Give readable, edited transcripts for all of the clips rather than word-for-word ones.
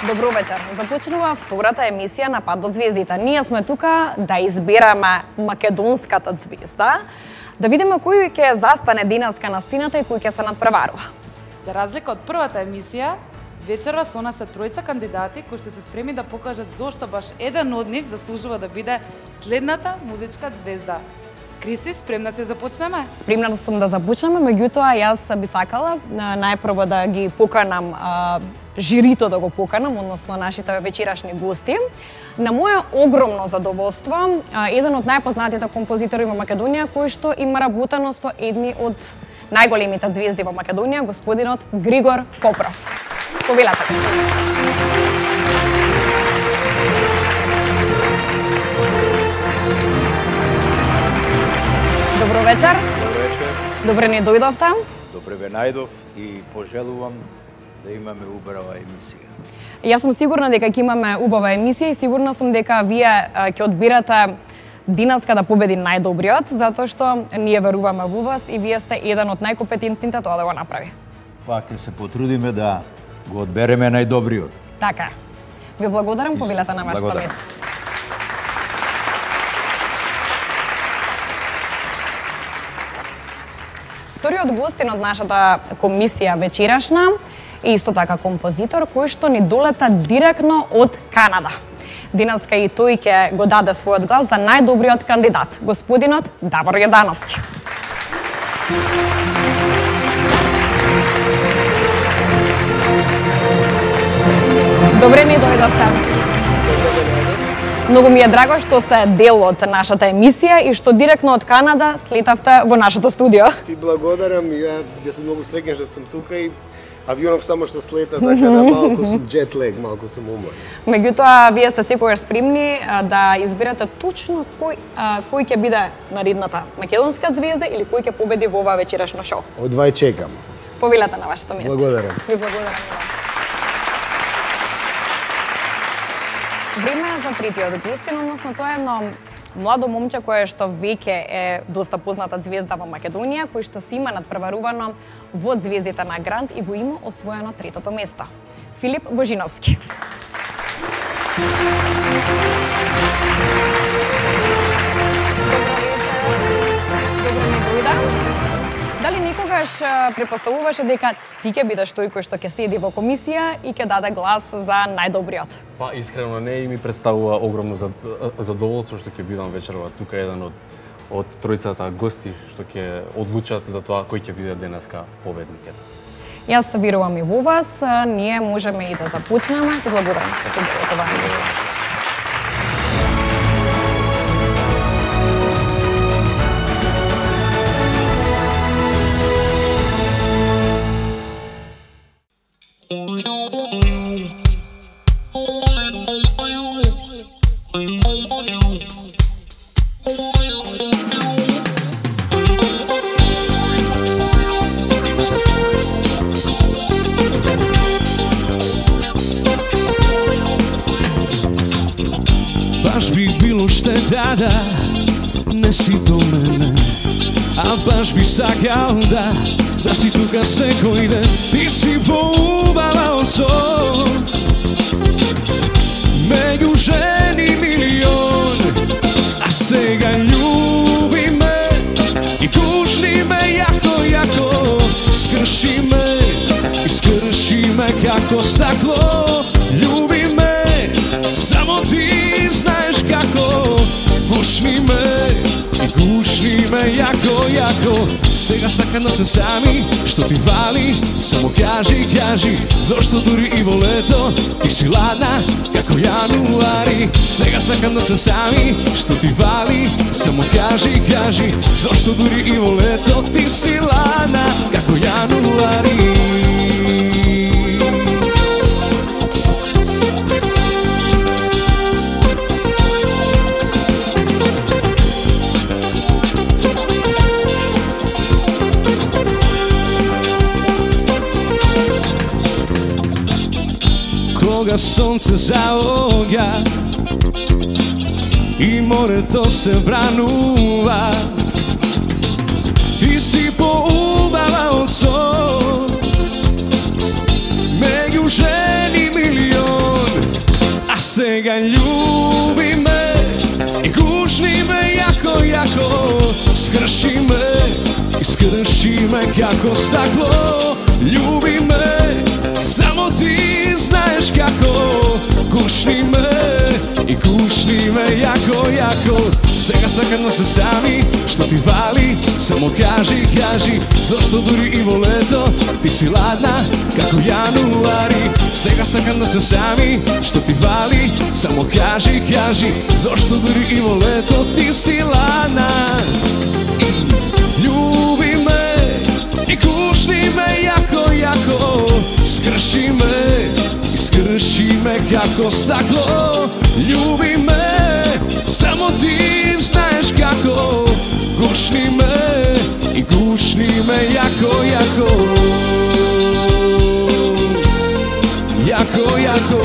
Добро вечер. Започнува втората емисија на Пат до звездите. Ние сме тука да избераме македонската звезда, да видиме кој ќе застане денеска на сцената и кој ќе се надпреварува. За разлика од првата емисија, вечерва со нас се тројца кандидати кои што се спремни да покажат зошто баш еден од нив заслужува да биде следната музичка звезда. Криси, спремна се започнеме? Спремна сум да започнеме, меѓутоа јас би сакала најпрво да ги поканам жирито да го поканам, односно нашите вечерашни гости. На моје огромно задоволство, еден од најпознатите композитори во Македонија кој што има работено со едни од најголемите звезди во Македонија, господинот Григор Копров. Повелете. Добро вечер. Добро вечер. Добре не дојдовте. Добре ве најдов и пожелувам да имаме убава емисија. Јас сум сигурна дека ќе имаме убава емисија и сигурна сум дека вие ќе одбирате денеска да победи најдобриот, затоа што ние веруваме во вас и вие сте еден од најкомпетентните тоа да го направи. Пак ќе се потрудиме да го одбереме најдобриот. Така. Ви благодарам, повелете на вашето место. Вториот гостин од нашата комисија вечерашна е исто така композитор кој што ни долета директно од Канада. Денеска и тој ќе го даде својот глас за најдобриот кандидат, господинот Давор Јордановски. Добре ни дојдовте. Многу ми е драго што сте дел од нашата емисија и што директно од Канада слетавте во нашето студио. Ти благодарам, ја сум многу среќен што сум тука и авионов само што слета, така да малку сум джет лег, малку сум уморен. Меѓутоа, вие сте секогаш спремни да изберете точно кој ќе биде наредната македонска звезда или кој ќе победи во ова вечерашно шоу. Одвај чекам. Повелете на вашето место. Благодарам. Ви благодарам. Време е за третиот гостин, односно тоа е едно младо момче кое што веќе е доста позната звезда во Македонија, кој што си има надпреварувано во звездите на Грант и го има освоено третото место. Филип Божиновски. Добро ми дојде. Дали некогаш препоставуваше дека ти ќе бидеш тој кој што ќе седи во комисија и ќе даде глас за најдобриот? Па искрено не, и ми представува огромно задоволство што ќе бидам вечерва тука еден од тројцата гости што ќе одлучат за тоа кој ќе биде денеска победникот. Јас верувам и во вас, ние можеме и да започнеме. Ти благодарам што се дел од оваа емисија. Баш би било штета, не си до мене, а баш би сакал да си тука секој ден. Ти си поубава од сон, меѓу жени милион, а сега љуби ме и кушни ме јако, скрши ме и скрши ме како стакло. Љуби ме, само ти знаеш како, пушни ме и кушни ме јако. Сега сакам да сме сами, што ти вали, само кажи, зошто дури и во лето ти си ладна како јануари. Сега сакам да сме сами, што ти вали, само кажи, зошто дури и во лето ти си ладна како јануари. Кога сонце заоѓа и морето се вранува, ти си поубава од сон, меѓу жени милион, скрши ме како стакло. Љуби ме, само ти знаеш како. Кушни ме и кушни ме јако, јако. Сега сакам да сме сами, што ти вали, само кажи, кажи. Зошто дури и во лето ти си ладна како јануари. Сега сакам да сме сами, што ти вали, само кажи, кажи. Зошто дури и во лето ти си ладна. Љуби ме и кушни ме јако, јако. Скрши ме и скрши ме како стакло. Љуби ме, само ти знаеш како. Гушни ме и гушни ме јако, јако. Јако, јако.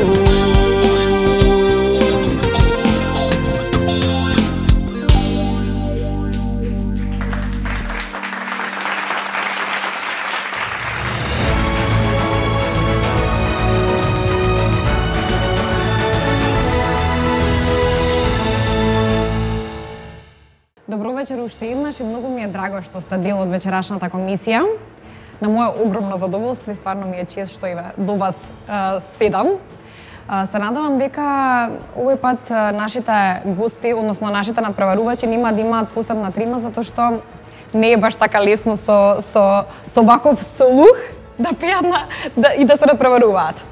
Добро вечер уште еднаш и многу ми е драго што сте дел од вечерашната комисија. На моје огромно задоволство и стварно ми е чест што и до вас седам. Се надевам дека овој пат нашите гости, односно нашите надпреварувачи нема да имаат посебна трима затоа што не е баш така лесно со ваков слух да пеат и да се надпреваруваат.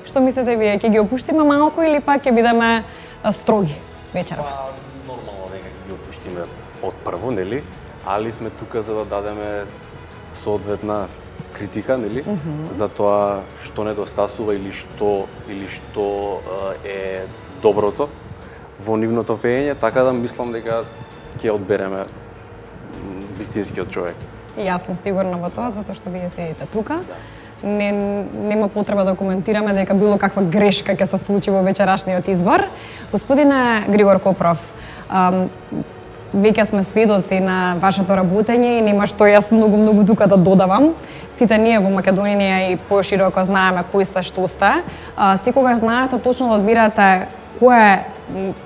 Што мислите вие, ќе ги опуштиме малку или пак ќе бидеме строги вечерва? Нормално дека ги опуштиме од прво, нели? Али сме тука за да дадеме соодветна критика, нели? За тоа што недостасува или што е доброто во нивното пеење, така да мислам дека ќе одбереме вистинскиот човек. И јас сум сигурна во тоа, затоа што вие седите тука. Нема потреба да коментираме дека било каква грешка ќе се случи во вечерашниот избор. Господине Григор Копров, веќе сме сведоци на вашето работење и нема што јас многу тука да додавам. Сите ние во Македонија и пошироко знаеме кои сте, што сте. Секогаш знаете точно да одбирате кое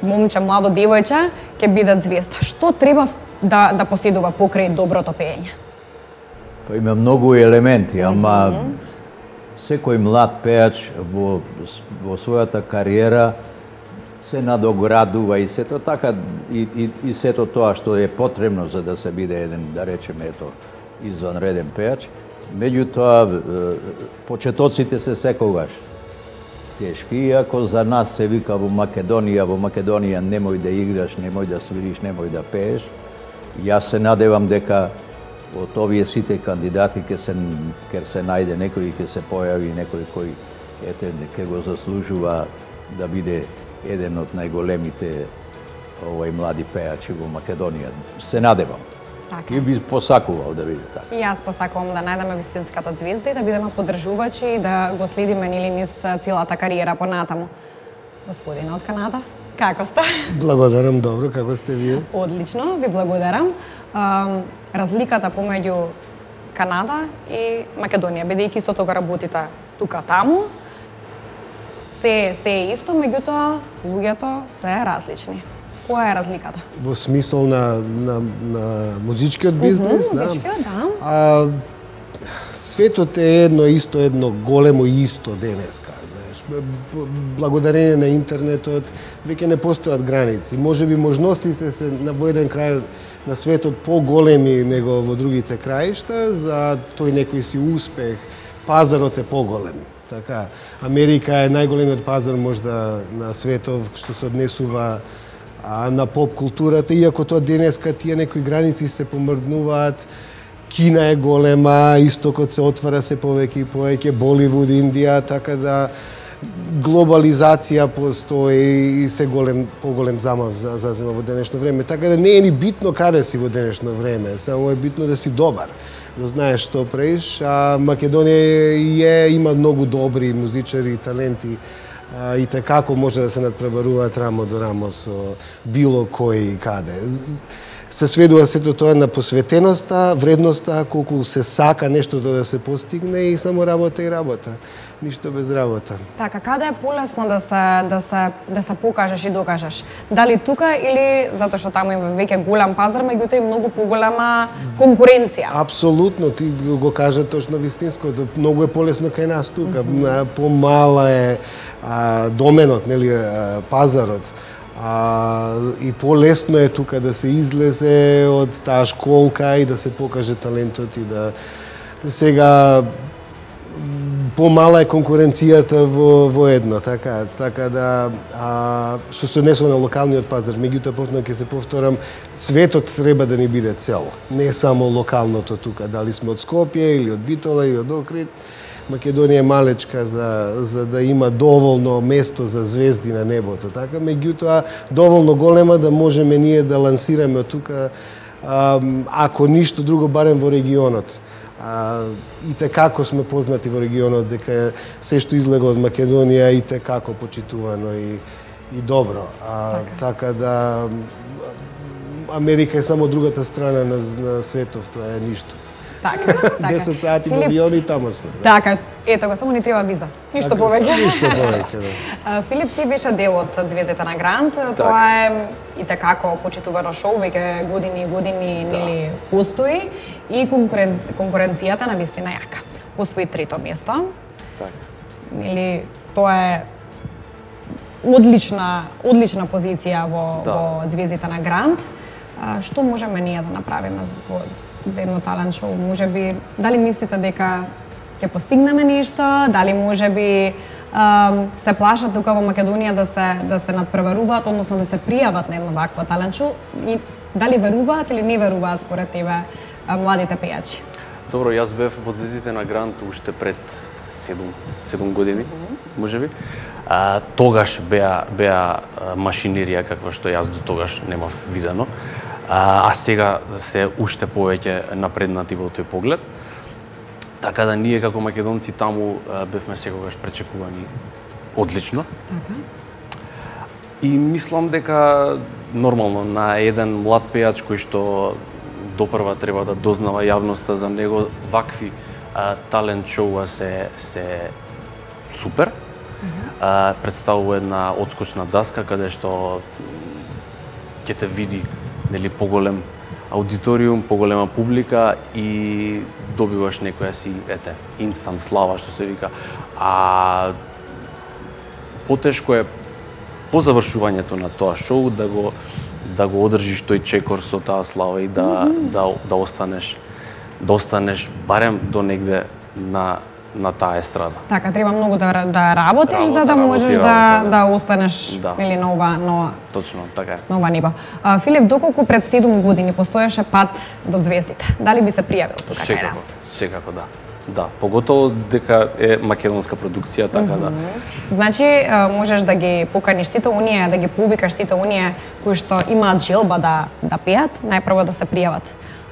момче, младо девојче ќе биде звезда. Што треба да поседува покрај доброто пеење? Па има многу елементи, ама секој млад пеач во својата кариера се надоградува и сето така и сето тоа што е потребно за да се биде еден, да речеме, ето, изванреден пеач. Меѓутоа, почетоците се секогаш тешки, иако за нас се вика во Македонија немој да играш, немој да свириш, немој да пееш. Јас се надевам дека од овие сите кандидати ќе се најде некој, ќе се појави некој кој ќе го заслужува да биде еден од најголемите млади пеачи во Македонија. Се надевам. Така. И би посакувал да биде така. И јас посакувам да најдеме вистинската звезда и да бидеме поддржувачи и да го следиме нели низ целата кариера понатаму. Господине од Канада, како сте? Благодарам, добро, како сте вие? Одлично, ви благодарам. Разликата помеѓу Канада и Македонија, бидејќи исто тога работите тука таму, се е исто, меѓутоа луѓето се различни. Која е разликата? Во смисол на музичкиот бизнес, музичкиот, да. Светот е едно големо исто денеска. Благодарение на интернетот веќе не постојат граници. Можеби можностите се во еден крај на светот поголеми него во другите краишта, за тој некој си успех, пазарот е поголем. Така, Америка е најголемиот пазар можда на светов што се однесува на поп културата, иако тоа денеска тие некои граници се помрднуваат. Кина е голема, истокот се отвара се повеќе и повеќе, Боливуд, Индија, така да глобализација постои и се поголем замав зазема во денешно време. Така да не е ни битно каде си во денешно време, само е битно да си добар, да знаеш што правиш. Македонија има многу добри музичари и таленти и како може да се надпреваруваат рамо до рамо со било кој и каде. се сведува сето тоа на посветеноста, вредноста, колку се сака нештото да се постигне и само работа и работа. Ништо без работа. Така, каде е полесно да се покажеш и докажеш? Дали тука или затоа што таму има веќе голем пазар, меѓутоа и многу поголема конкуренција? Апсолутно, ти го кажа точно вистинското. Многу е полесно кај нас тука. Помала е доменот, нели, пазарот. И полесно е тука да се излезе од таа школка и да се покаже талентот и да сега помала е конкуренцијата во едно, така да што се однесува на локалниот пазар, меѓутоа повторно ќе се повторам, светот треба да ни биде цел, не само локалното тука, дали сме од Скопје или од Битола или од Охрид. Македонија е малечка за да има доволно место за звезди на небото, така, меѓутоа доволно голема да можеме ние да лансираме од тука, ако ништо друго, барем во регионот. И како сме познати во регионот, дека се што излегло од Македонија и како почитувано и добро. Така да Америка е само другата страна на светов, тоа е ништо. Така. 10 сати во авион и таму сме. Така, ето го, само ни треба виза. Ништо повеќе. Ништо повеќе, да. Филип, ти беше дел од Звездите на Грант. Тоа е и така почитувано шоу, веќе години и години нели постои и конкуренцијата на вистина јака. Освои 3-то место. Така. Нели тоа е одлична позиција во Звездите на Грант. Што можеме ние да направиме за едно талент шоу? Можеби, дали мислите дека ќе постигнеме нешто, дали можеби се плашат тука во Македонија да се надпреваруваат, односно да се пријават на едно вакво талент шоу, и дали веруваат или не веруваат според тебе младите пејачи? Добро, јас бев во Звездите на Грант уште пред 7 години, можеби. Тогаш беа машинерија каква што јас до тогаш немав видено. А сега се уште повеќе напреднати во тој поглед. Така да ние како македонци таму бевме секогаш пречекувани одлично. И мислам дека нормално на еден млад пејач кој што допрва треба да дознава јавноста за него, вакви талент шоуа се супер. Представува една одскочна даска каде што ќе те види нели поголем аудиториум, поголема публика и добиваш некоја си инстант слава што се вика. А потешко е по завршувањето на тоа шоу да го одржиш тој чекор со таа слава и да останеш барем до негде на таа естрада. Така, треба многу да работиш за да можеш да останеш или на ова Точно, така е. На ова ниво. Филип, доколку пред 7 години постоеше пат до звездите, дали би се пријавил тука кај нас? Секако да. Да, поготово дека е македонска продукција, така да. Значи, можеш да ги поканиш сите оние, да ги повикаш сите оние кои што имаат желба да пеат, најпрво да се пријават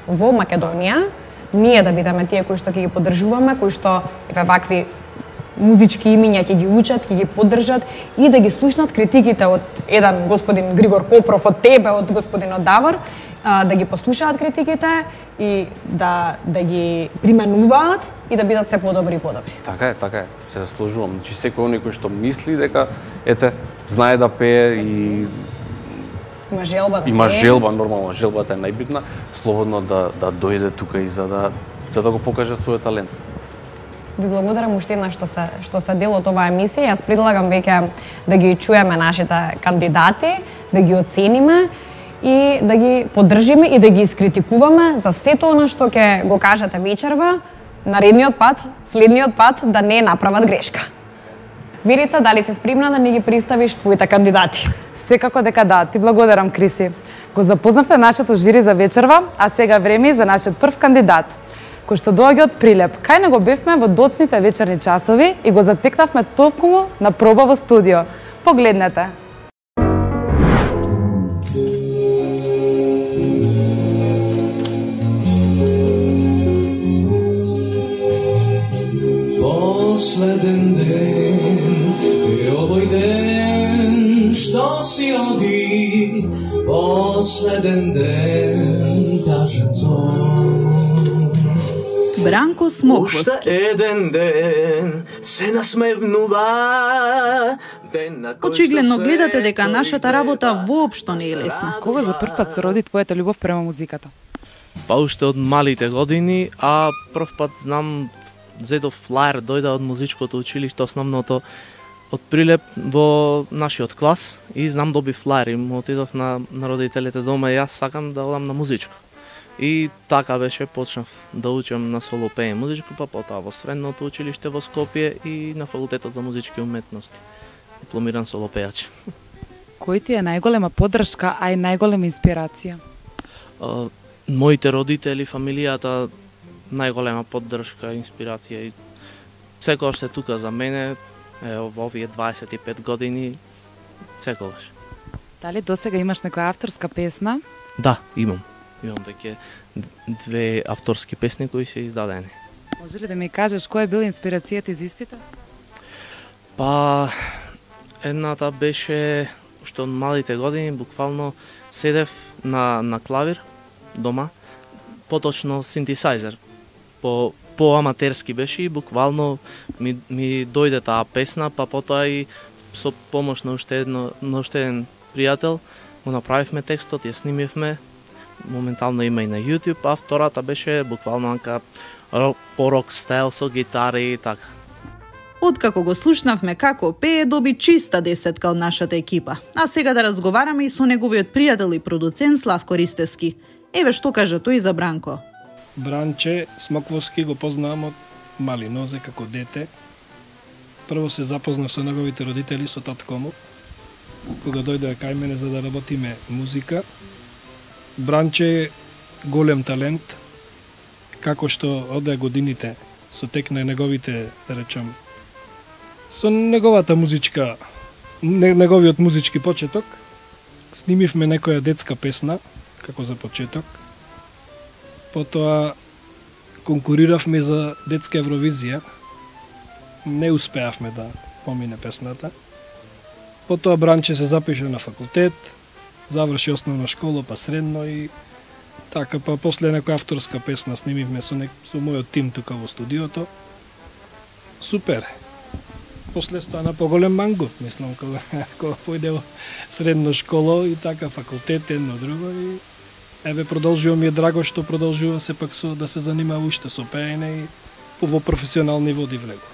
во Македонија, ние да бидеме тие кои што ќе ги поддржуваме, кои што вакви музички имиња ќе ги учат, ќе ги поддржат и да ги слушнат критиките од еден господин Григор Копров, од тебе, од господинот Давор, да ги послушаат критиките и да ги применуваат и да бидат се подобри и подобри. Така е, се заслужувам. Значи секој оној кој што мисли дека знае да пее и има желба да има желба, нормално, желбата е најбитна, слободно да дојде тука и за да го покаже својот талент. Ви благодарам уште еднаш што сте дел од оваа емисија. Јас предлагам веќе да ги чуеме нашите кандидати, да ги оцениме и да ги поддржиме и да ги искритикуваме за сето она што ќе го кажете вечерва, наредниот пат, следниот пат да не направат грешка. Верица, дали си спремна да ни ги представиш твоите кандидати? Секако дека да. Ти благодарам, Криси. Го запознавте нашето жири за вечерва, а сега време за нашиот прв кандидат, кој што доаѓа од Прилеп. Кај него бевме во доцните вечерни часови и го затекнавме токму на проба во студио. Погледнете. Последен ден е овој ден што си оди, последен ден Бранко Смоквоски. Уште еден ден се насмевнува. Очигледно гледате дека нашата работа воопшто не е лесна. Кога за прв пат се роди твојата љубов према музиката? Па уште од малите години, а прв пат знам зедов флаер дојде од музичкото училиште основното од Прилеп во нашиот клас и знам доби флаер и му отидов на родителите дома и јас сакам да одам на музичко. И така беше, почнав да учам на соло пеење музичко, па потоа во средното училиште во Скопје и на факултетот за музички уметности. Дипломиран соло пејач. Кој ти е најголема поддршка, а и најголема инспирација? Моите родители, фамилијата, најголема поддршка, инспирација и секогаш се тука за мене, во овие 25 години, секогаш. Дали досега имаш некоја авторска песна? Да, имам. Имам веќе 2 авторски песни кои се издадени. Може ли да ми кажеш која е била инспирацијата из истите? Па, едната беше што од малите години буквално седев на клавир дома, поточно синтесајзер. По аматерски беше и буквално ми дојде таа песна, па потоа и со помош на уште еден пријател го направивме текстот, ја снимивме. Моментално има и на YouTube, а втората беше буквално анка по рок стайл со гитари и така. Откако го слушнавме како пее, доби чиста десетка од нашата екипа. А сега да разговараме и со неговиот пријател и продуцент Славко Ристевски. Еве што кажа тој за Бранко. Бранче Смоквоски го познавам од мали нозе како дете. Прво се запознав со неговите родители, со татко му, кога дојде кај мене за да работиме музика. Бранче е голем талент, како што оде годините со тек на неговите, да речам, со неговата музичка, неговиот музички почеток, снимивме некоја детска песна, како за почеток. Потоа конкуриравме за детска Евровизија, не успеавме да помине песната. Потоа Бранче се запише на факултет, заврши основна школа, па средно и така, па после некоја авторска песна снимивме со мојот тим тука во студиото. Супер. После стана поголем мангот, мислам, кога појде во средна школа и така факултет едно друго и еве продолжува, ми е драго што продолжува сепак да се занимава уште со пеење и во професионални води влегува.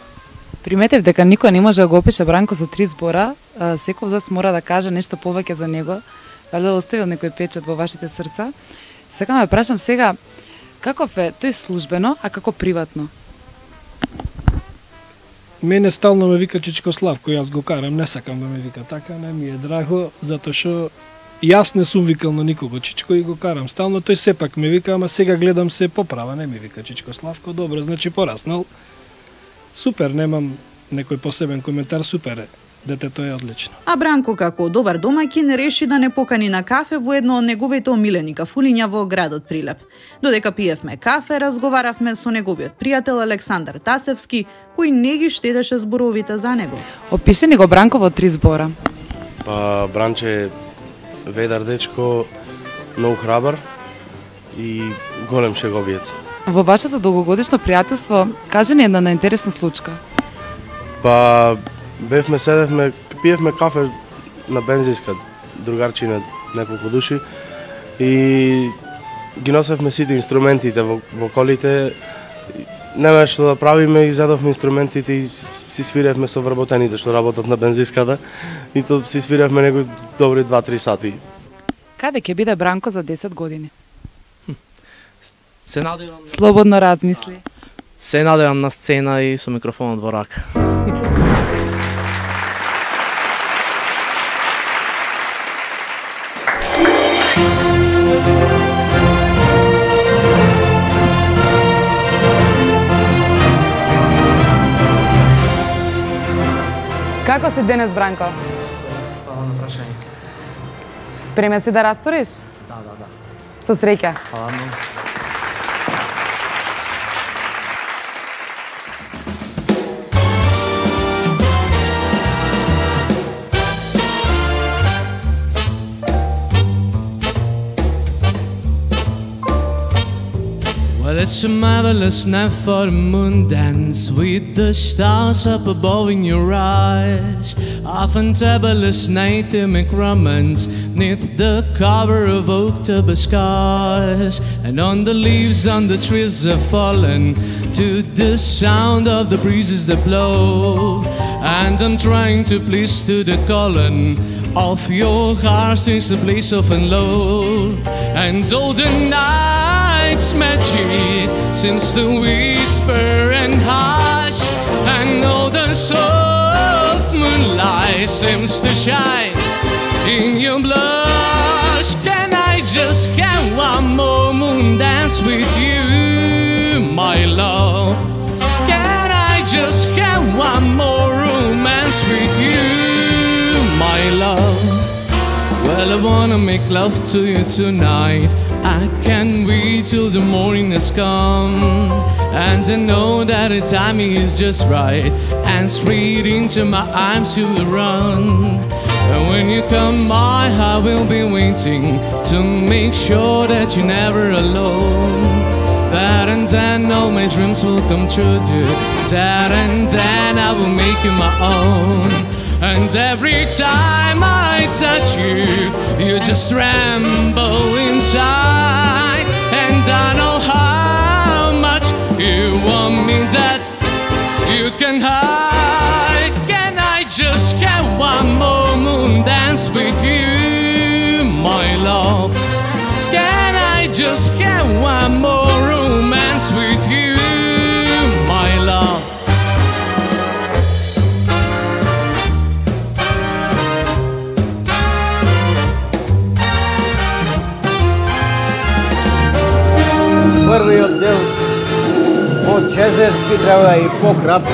Приметев дека никој не може да го опише Бранко со 3 збора, секој од вас мора да каже нешто повеќе за него, валјда оставил некој печат во вашите срца. Сакам да прашам сега, каков е тој службено, а како приватно? Мене стално ме вика Чичко Славко, јас го карам, не сакам да ме вика така, не ми е драго, затоа што јас не сум викал на никого Чичко и го карам стално, тој сепак ме вика, ама сега гледам се поправа, не ми вика Чичко Славко, добро, значи пораснал. Супер, немам некој посебен коментар, супер е. Детето е одлично. А Бранко како добар домаќин реши да не покани на кафе во едно од неговите омилени кафулиња во градот Прилеп. Додека пиевме кафе, разговаравме со неговиот пријател Александар Тасевски, кој не ги штедеше зборовите за него. Опиши ни го Бранко во 3 збора. Па Бранче ведар дечко, многу храбар и голем шеговиец. Во вашето долгогодишно пријателство, кажи ни една најинтересна случка. Па седевме, пиевме кафе на бензинска, другарчина, неколку души и ги носевме сите инструментите во колите. Нема што да правиме и задовме инструментите и си свиревме со вработените што работат на бензинската и то си свиревме некои добри 2-3 сати. Каде ќе биде Бранко за 10 години? Се надевам. Слободно размисли. Се надевам на сцена и со микрофонот во рака. Како си денес, Бранко? Фала на прашање. Спремен си да растуриш? Да. Со среќа. Фала многу. It's a marvelous night for the moon dance with the stars up above in your eyes. A fantabulous night to make romance neath the cover of October skies. And on the leaves on the trees are fallen to the sound of the breezes that blow. And I'm trying to please to the calling of your heart since the blaze of and low. And all the night's magic seems to whisper and hush, and all the soft moonlight seems to shine in your blush. Can I just have one more moon dance with you, my love? Can I just have one more romance with you, my love? Well, I wanna make love to you tonight. I can't wait till the morning has come, and I know that the timing is just right, and straight into my arms you will run. And when you come, my heart will be waiting to make sure that you're never alone. That and then all my dreams will come true, dude. That and then I will make you my own. And every time I touch you, you just tremble inside. And I know how much you want me that you can hide. Can I just get one more moon dance with you, my love? Can I just get one more romance with you, my love? Првиот дел по-чезерски треба и по-кратко.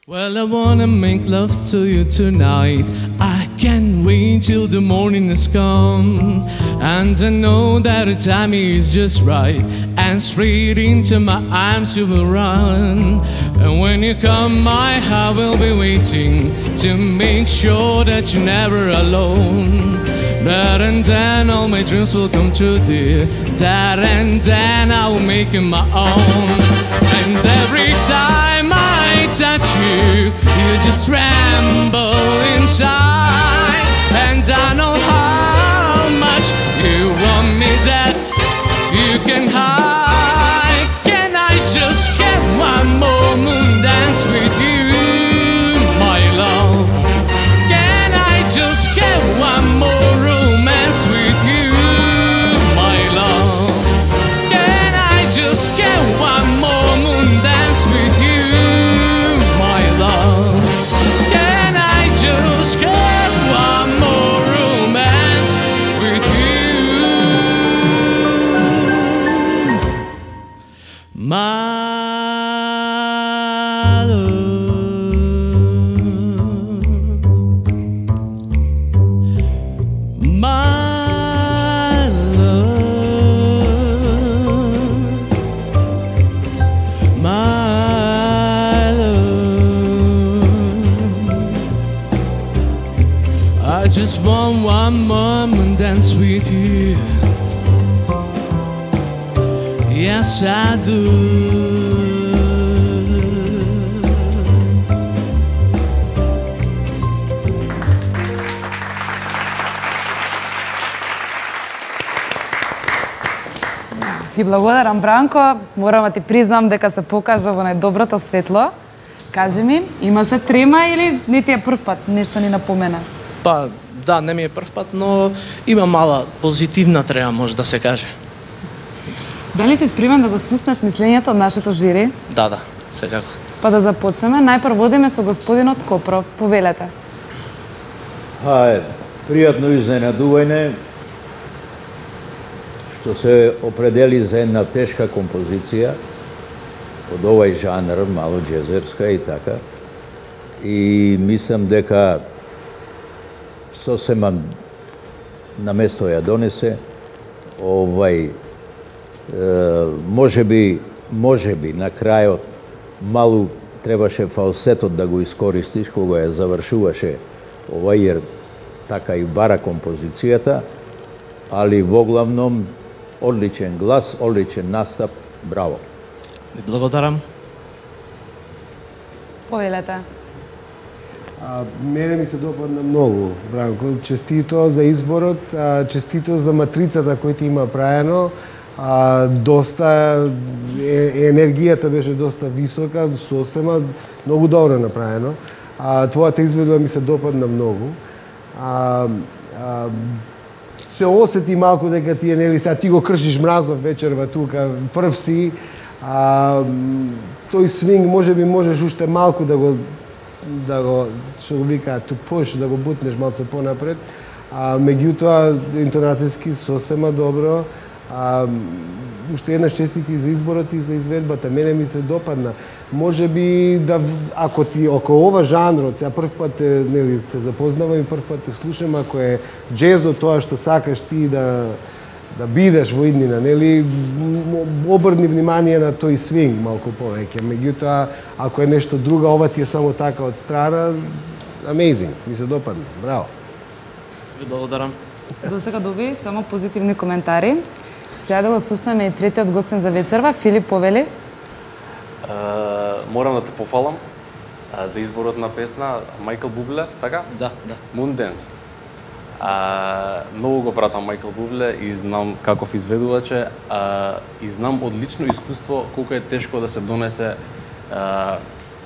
Well, I wanna make love to you tonight. I can't wait till the morning has come, and I know that the timing is just right, and straight into my arms you will run. And when you come, my heart will be waiting to make sure that you're never alone. That and then all my dreams will come true, dear. That and then I will make you my own. And every time I touch you, you just tremble inside. And I know how much you want me that you can hide. Can I just get one more moon dance with you, my love? Can I just get one more romance with you, my love? Can I just get one more moon dance with you, my love? Can I just get one more romance with you, my just want one moment dance with you. Yes, I do. Ти благодарам, Бранко. Морам да ти признам дека се покажа во најдоброто светло. Кажи ми, имаше трема или не ти е прв пат? Нешто ни напомена? Па, да, не ми е прв пат, но има мала позитивна трема, може да се каже. Дали си спремен да го слушнеш мислењето од нашето жири? Да, секако. Па да започнеме, најпрв водиме со господинот Копров. Повелете. Пријатно изненадување што се определи за една тешка композиција од овај жанр, мало джезерска и така. И мислам дека сосема на место ја донесе. Може би на крајот малу требаше фалсетот да го искористиш кога ја завршуваше jer така и бара композицијата, али во главном одличен глас, одличен настап, браво. Ви благодарам. Повелете. Мене ми се допадна многу, Бранко. Честито за изборот, честито за матрицата која ти има праено. Доста енергијата беше доста висока, сосема, многу добро направено. Твојата изведба ми се допадна многу. Се осети малку дека ти сега ти го кршиш мразов вечерва тука, прв си. Тој свинг можеш уште малку да го што го викаат to push, да го бутнеш малце понапред. Меѓутоа интонацијски сосема добро. Уште една честитки за изборот и за изведбата. Мене ми се допадна. Може би да ако ова жанрот, сега прв пат те запознавам и прв пат те слушам, ако е џезот тоа што сакаш ти да бидеш во иднина, нели, обрни внимание на тој свинг малку повеќе. Меѓутоа, ако е нешто друго, ова ти е само така од страна, amazing, ми се допадна. Браво. Ви благодарам. До сега доби само позитивни коментари. Сега да го слушнеме и третиот гостин за вечерва, Филип, повели. Морам да те пофалам за изборот на песна Майкл Бубле, така? Да. Moondance. Многу го пратам Майкл Бубле и знам каков изведувач е, и знам од лично искуство колку е тешко да се донесе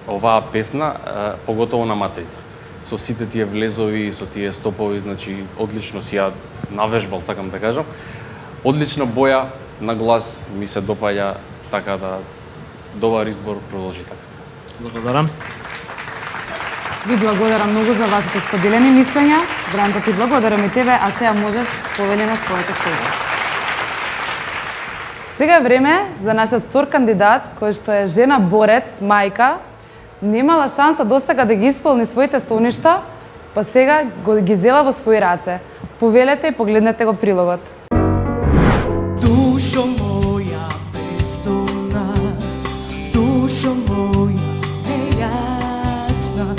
оваа песна, поготово на матрица. Со сите тие влезови, со тие стопови, значи одлично си ја навежбал, сакам да кажам. Одлична боја на глас, ми се допаѓа, така да добар избор, продолжи така. Благодарам. Ви благодарам многу за вашите споделени мислења. Бранко, ти благодарам и тебе, а сега можеш повели на твоите столче. Сега е време за нашиот втор кандидат, кој што е жена борец, мајка, немала шанса досега да ги исполни своите соништа, па сега ги зела во своји раце. Повелете и погледнете го прилогот. Душо моја бездомна, душо моја нејасна.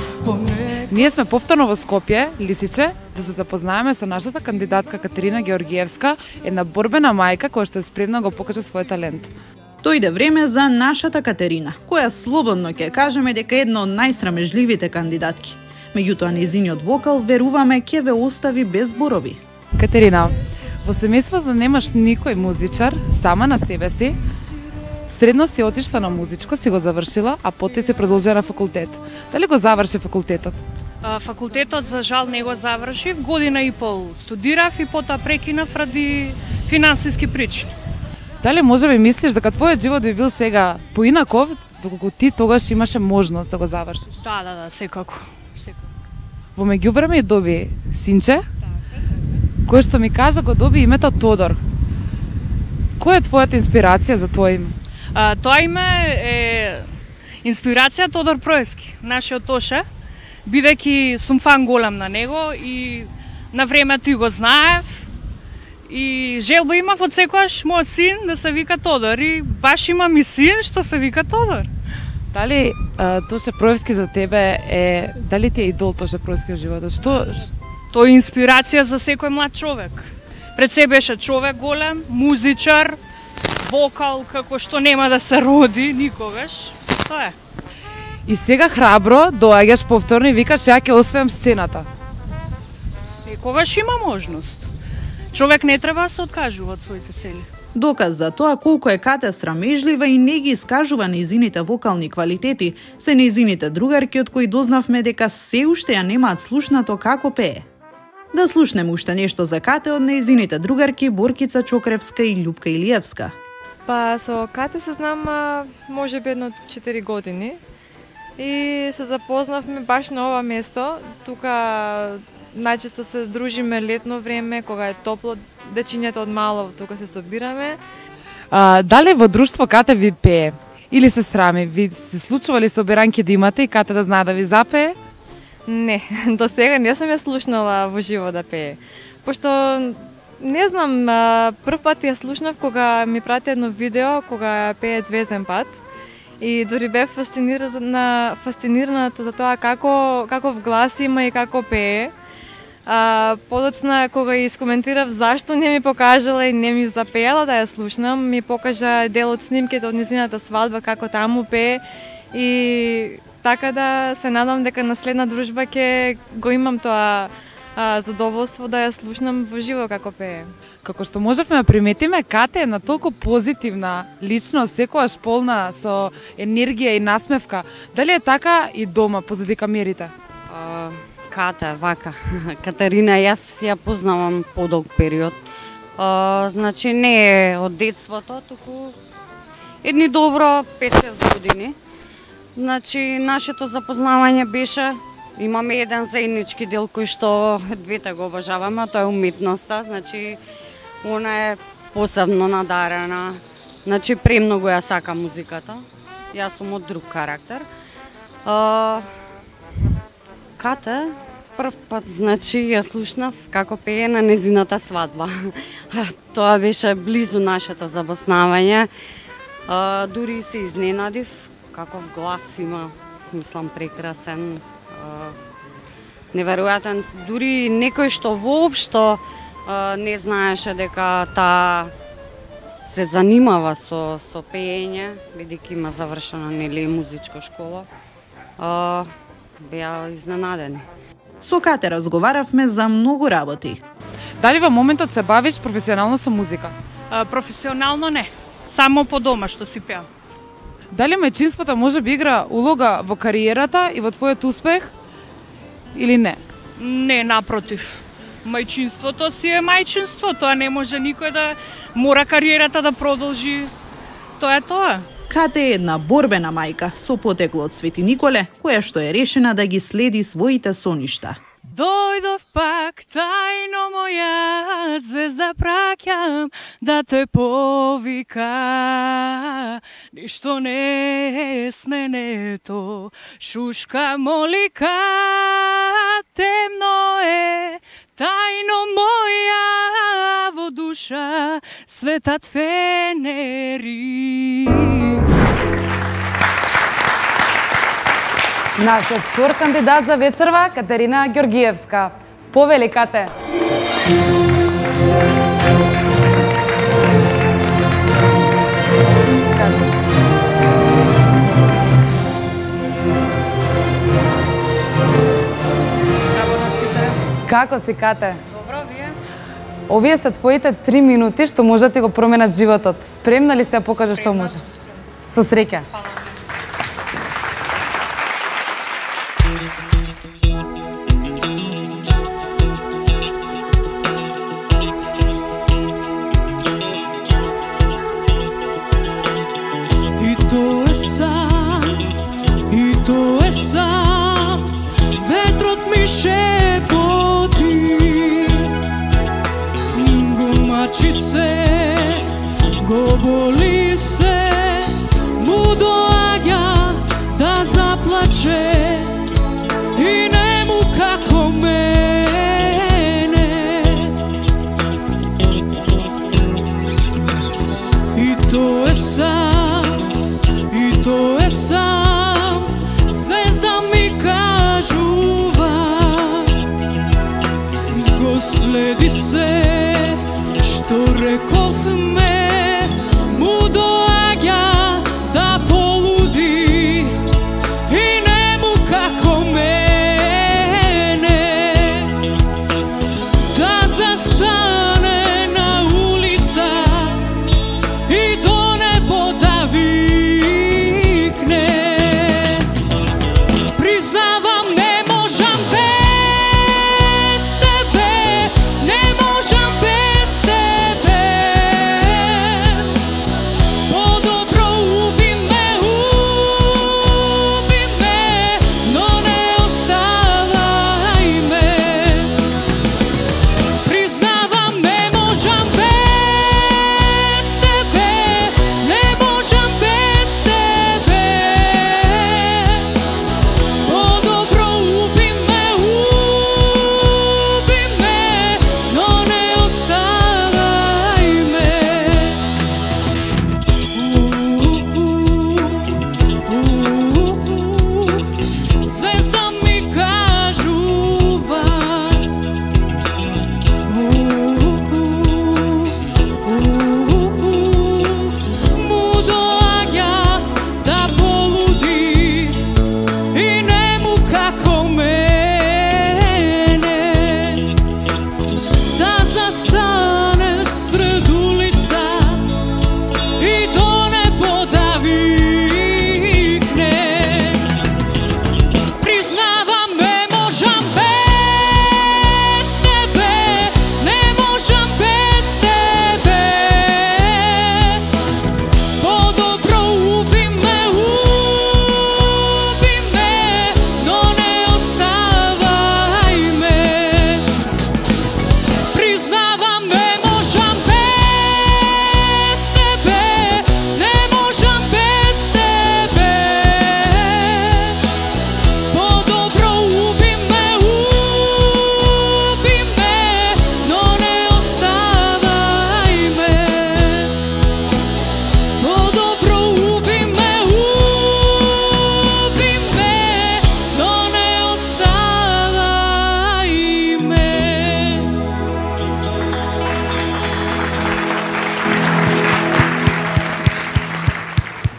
Ние сме повторно во Скопје, Лисиче, да се запознаеме со нашата кандидатка Катерина Георгиевска, една борбена мајка која што е спремна да го покаже свој талент. Дојде време за нашата Катерина, која слободно ќе кажеме дека е една од најсрамежливите кандидатки. Меѓутоа, нејзиниот вокал, веруваме, ќе ве остави без зборови. Катерина, во семејство да немаш никој музичар, сама на себе си, средно си отишла на музичко, си го завршила, а потоа си продолжила на факултет. Дали го заврши факултетот? Факултетот за жал не го завршив, година и пол студирав и потоа прекинав ради финансиски причини. Дали може би мислиш дека твојот живот би бил сега поинаков, доколку ти тогаш имаше можност да го завршиш? Да, секако. Во меѓувреме доби синче, кој што ми кажа го доби името Тодор. Која е твојата инспирација за тоа име? Тоа име е инспирација Тодор Проески, нашиот Тоше, бидејќи сум фан голем на него и на времето и го знаев и желба имав од секојаш мојот син да се вика Тодор и баш имам и син што се вика Тодор. Дали Тоше Проевски за тебе е, дали ти е идол Тоше Проевски во животот? Што? Тој е инспирација за секој млад човек. Пред се беше човек голем, музичар, вокал како што нема да се роди никогаш. Тоа е. И сега храбро доаѓаш повторно и викаш ја ќе освојам сцената. Секогаш има можност. Човек не треба да се откажува од своите цели. Доказ за тоа колку е Кате срамежлива и не ги искажува нејзините вокални квалитети се нејзините другарки од кои дознавме дека се уште ја немаат слушнато како пее. Да слушнеме уште нешто за Кате од нејзините другарки Боркица Чокревска и Љупка Илиевска. Па со Кате се знам може би едно 4 години и се запознавме баш на ова место. Тука најчесто се дружиме летно време, кога е топло, дечињата од мало тука се собираме. Дали во друштво Кате ви пее? Или се срами? Ви се случували собиранки да имате и Кате да знае да ви запее? Не, до сега не сум ја слушнала во живо да пее. Пошто, не знам, прв пат ја слушнав кога ми прати едно видео, кога пее Звезден пат. И дури бев фасцинирана за тоа каков глас има и како пее. Подоцна, кога искоментирав зашто не ми покажала и не ми запеала да ја слушнам, ми покажа дел од снимките од незината свадба, како таму пее. И така да се надам дека на следна дружба ќе го имам тоа задоволство да ја слушнам во живо како пее. Како што можевме да приметиме, Кате е на толку позитивна личност, секогаш полна со енергија и насмевка. Дали е така и дома позади камерите? Кате, вака. Катерина, јас ја познавам подолг период. Значи не е од детството, туку едни добро 5-6 години. Значи нашето запознавање беше, имаме еден заеднички дел кој што двете го обожаваме, тоа е уметноста. Значи она е посебно надарена. Значи премногу ја сака музиката. Јас сум од друг карактер. Кате, прв пат, значи, ја слушнав како пее на незината свадба. Тоа беше близу нашето запознавање. Дури се изненадив, каков глас има, мислам, прекрасен, неверојатен. Дури некој што воопшто не знаеше дека таа се занимава со пеење, бидејќи има завршена нели музичка школа, беа изненадени. Со Кате разговаравме за многу работи. Дали во моментот се бавиш професионално со музика? Професионално не, само по дома што си пеам. Дали мајчинството може би игра улога во кариерата и во твојот успех или не? Не, напротив. Мајчинството си е мајчинство, тоа не може никој да мора кариерата да продолжи. Тоа е тоа. Кате е една борбена мајка со потекло од Свети Николе, која што е решена да ги следи своите соништа. Дојдов пак тајно моја звезда праќам да те повика. Ништо не е сменето, шушка молика, темно е тајно моја во душа, светат фенери. Нашиот втор кандидат за вечерва, Катерина Ѓоргиевска. Повели, Кате. Како си, Кате? Добро, вие? Овие се твоите 3 минути што можат да го променат животот. Спремна ли се да покажеш што можеш? Со среќа. Шепоти, го мачи се, го боли се, му доаѓа да заплаче и нему како мене. И тоа е сам, и тоа е сам, звезда ми кажува. Следи се, што рековме, му доаѓа да полуди и нему како мене, да застане на улица и до небо да викне. Признавам, не можам без тебе, не можам без тебе.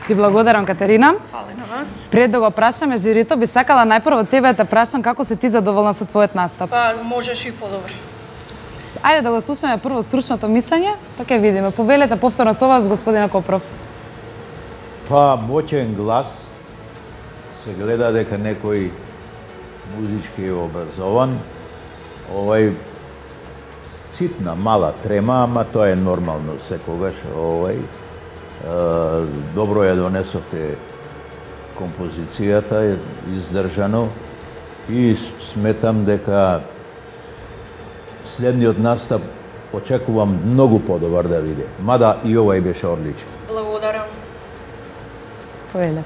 Ти благодарам, Катерина. Фала на вас. Пред да го прашаме жирито, би сакала најпрво тебе да те прашам како си ти задоволна со твојот настап. Па можеш и подобро. Ајде да го слушаме прво стручното мислење, па ќе видиме. Повелете повторно со вас, господина Копров. Па, моќен глас, се гледа дека некој музички е образован, ситна, мала трема, ама тоа е нормално секогаш, добро ја донесовте композицијата, е издржано и сметам дека следниот настап очекувам многу подобар да биде. Мада и овај беше одличен. Благодарам. Повелете.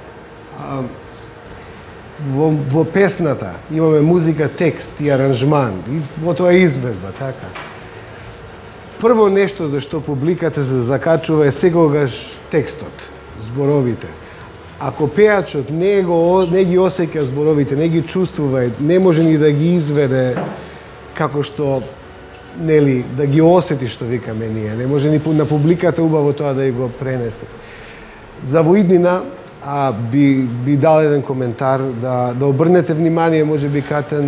Во песната имаме музика, текст и аранжман, и во тоа изведба, така. Прво нешто за што публиката се закачува е секогаш текстот, зборовите. Ако пеачот не ги осеќа зборовите, не ги чувствува, не може ни да ги изведе како што, нели, да ги осети, што викаме ние. Не може ни на публиката убаво тоа да го пренесе. За во иднина би дал еден коментар, да обрнете внимание, може би, Кате,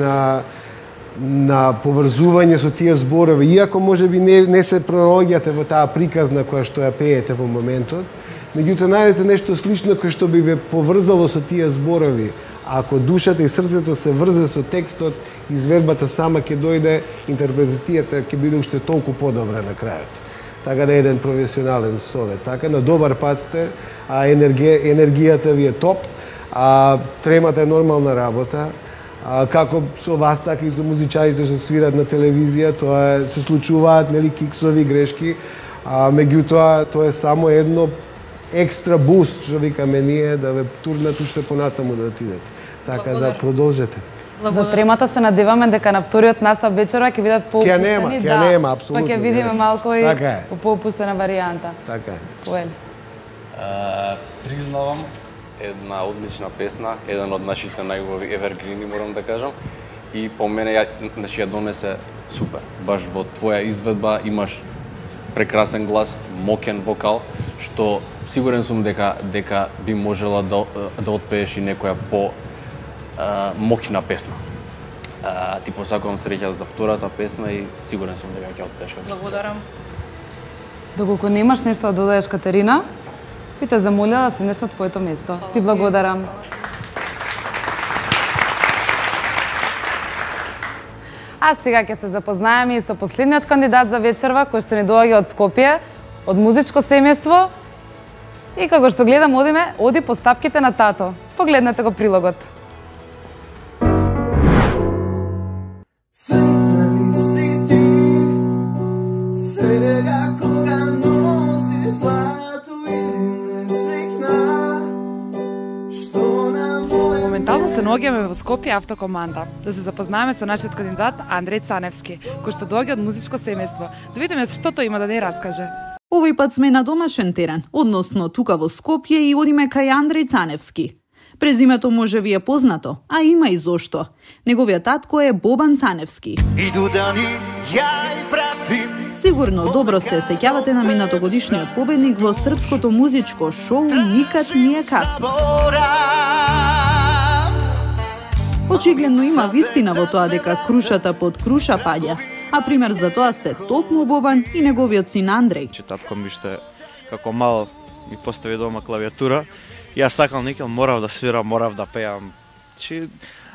на поврзување со тие зборови, иако може би не се пророѓате во таа приказна која што ја пеете во моментот, меѓутоа најдете нешто слично кој што би ве поврзало со тие зборови. А ако душата и срцето се врзе со текстот, изведбата сама ќе дојде, интерпретацијата ќе биде уште толку подобра на крајот. Така да е еден професионален совет. Така, на добар пат сте, енергијата ви е топ, тремата е нормална работа, како со вас, така и со музичарите што свират на телевизија, тоа се случуваат, нели, киксови, грешки, меѓутоа тоа е само едно екстра буст, што викаме ние, да ве турнат уште понатаму да отидете. Така да продолжете. За тремата се надеваме дека на вториот настап вечерва ќе видат поопуштени, ќе нема, апсолутно. Па ќе видиме малку и по поопуштена варијанта. Така е. Поели. Признавам, една одлична песна, еден од нашите најубави евергрини, морам да кажам. И по мене ја донесе супер. Баш во твоја изведба имаш прекрасен глас, мокен вокал, што сигурен сум дека би можела да отпееш и некоја мокна песна. Ти посакувам среќа за втората песна и сигурен сум дека ќе отпееш. Благодарам. Доколку немаш нешто да додадеш, Катерина, би те замолила да седнеш на твоето место. Ти благодарам. А сега ќе се запознаеме и со последниот кандидат за вечерва, кој што ни доаѓа од Скопје, од музичко семејство. И како што гледам, оди по стапките на тато. Погледнете го прилогот. Моментално се наоѓаме во Скопје автокоманда да се запознаеме со нашиот кандидат Андреј Цаневски, кој што доаѓа од музичко семејство. Да видиме што тој има да ни раскаже. Овој пат сме на домашен терен, односно тука во Скопје и одиме кај Андреј Цаневски. Презимето може ви е познато, а има и зошто. Неговиот татко е Бобан Цаневски. Сигурно добро се сеќавате на минатогодишниот победник во српското музичко шоу Никад не е касно. Очигледно има вистина во тоа дека крушата под круша паѓа, а пример за тоа се токму Бобан и неговиот син Андреј. Татко ми што како мал ми постави дома клавиатура, јас сакам никел, морав да свирам, морав да пеам.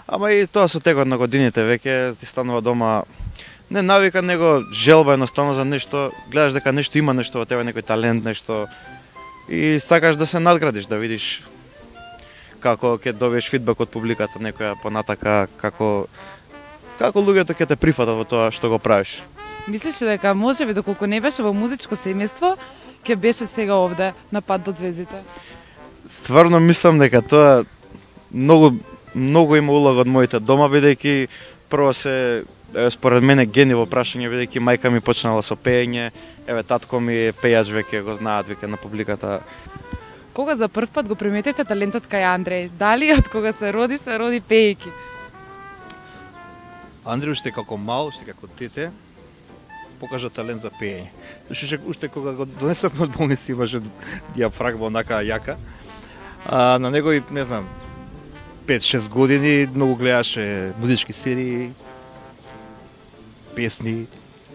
Ама и тоа со текот на годините веќе ти станува дома не навика, него желба едноставно за нешто, гледаш дека нешто има, нешто во тебе, некој талент, нешто и сакаш да се надградиш, да видиш како ќе добиеш фидбек од публиката, некоја понатака, како луѓето ќе те прифатат во тоа што го правиш. Мислиш дека можеби доколку не беше во музичко семејство, ќе беше сега овде на пат до звездите? Стварно мислам дека тоа многу има улога од моите дома, бидејќи прво се според мене гени во прашање, бидејќи мајка ми почнала со пеење, татко ми е пејач, веќе го знаат веќе на публиката. Кога за прв пат го приметивте талентот кај Андреј? Дали од кога се роди пеејќи? Андреј уште како мал, уште како дете, покажа талент за пеење. Уште кога го донесовме од болница имаше диафрагма онака јака. На негови, не знам, 5-6 години многу гледаше музички серии, песни.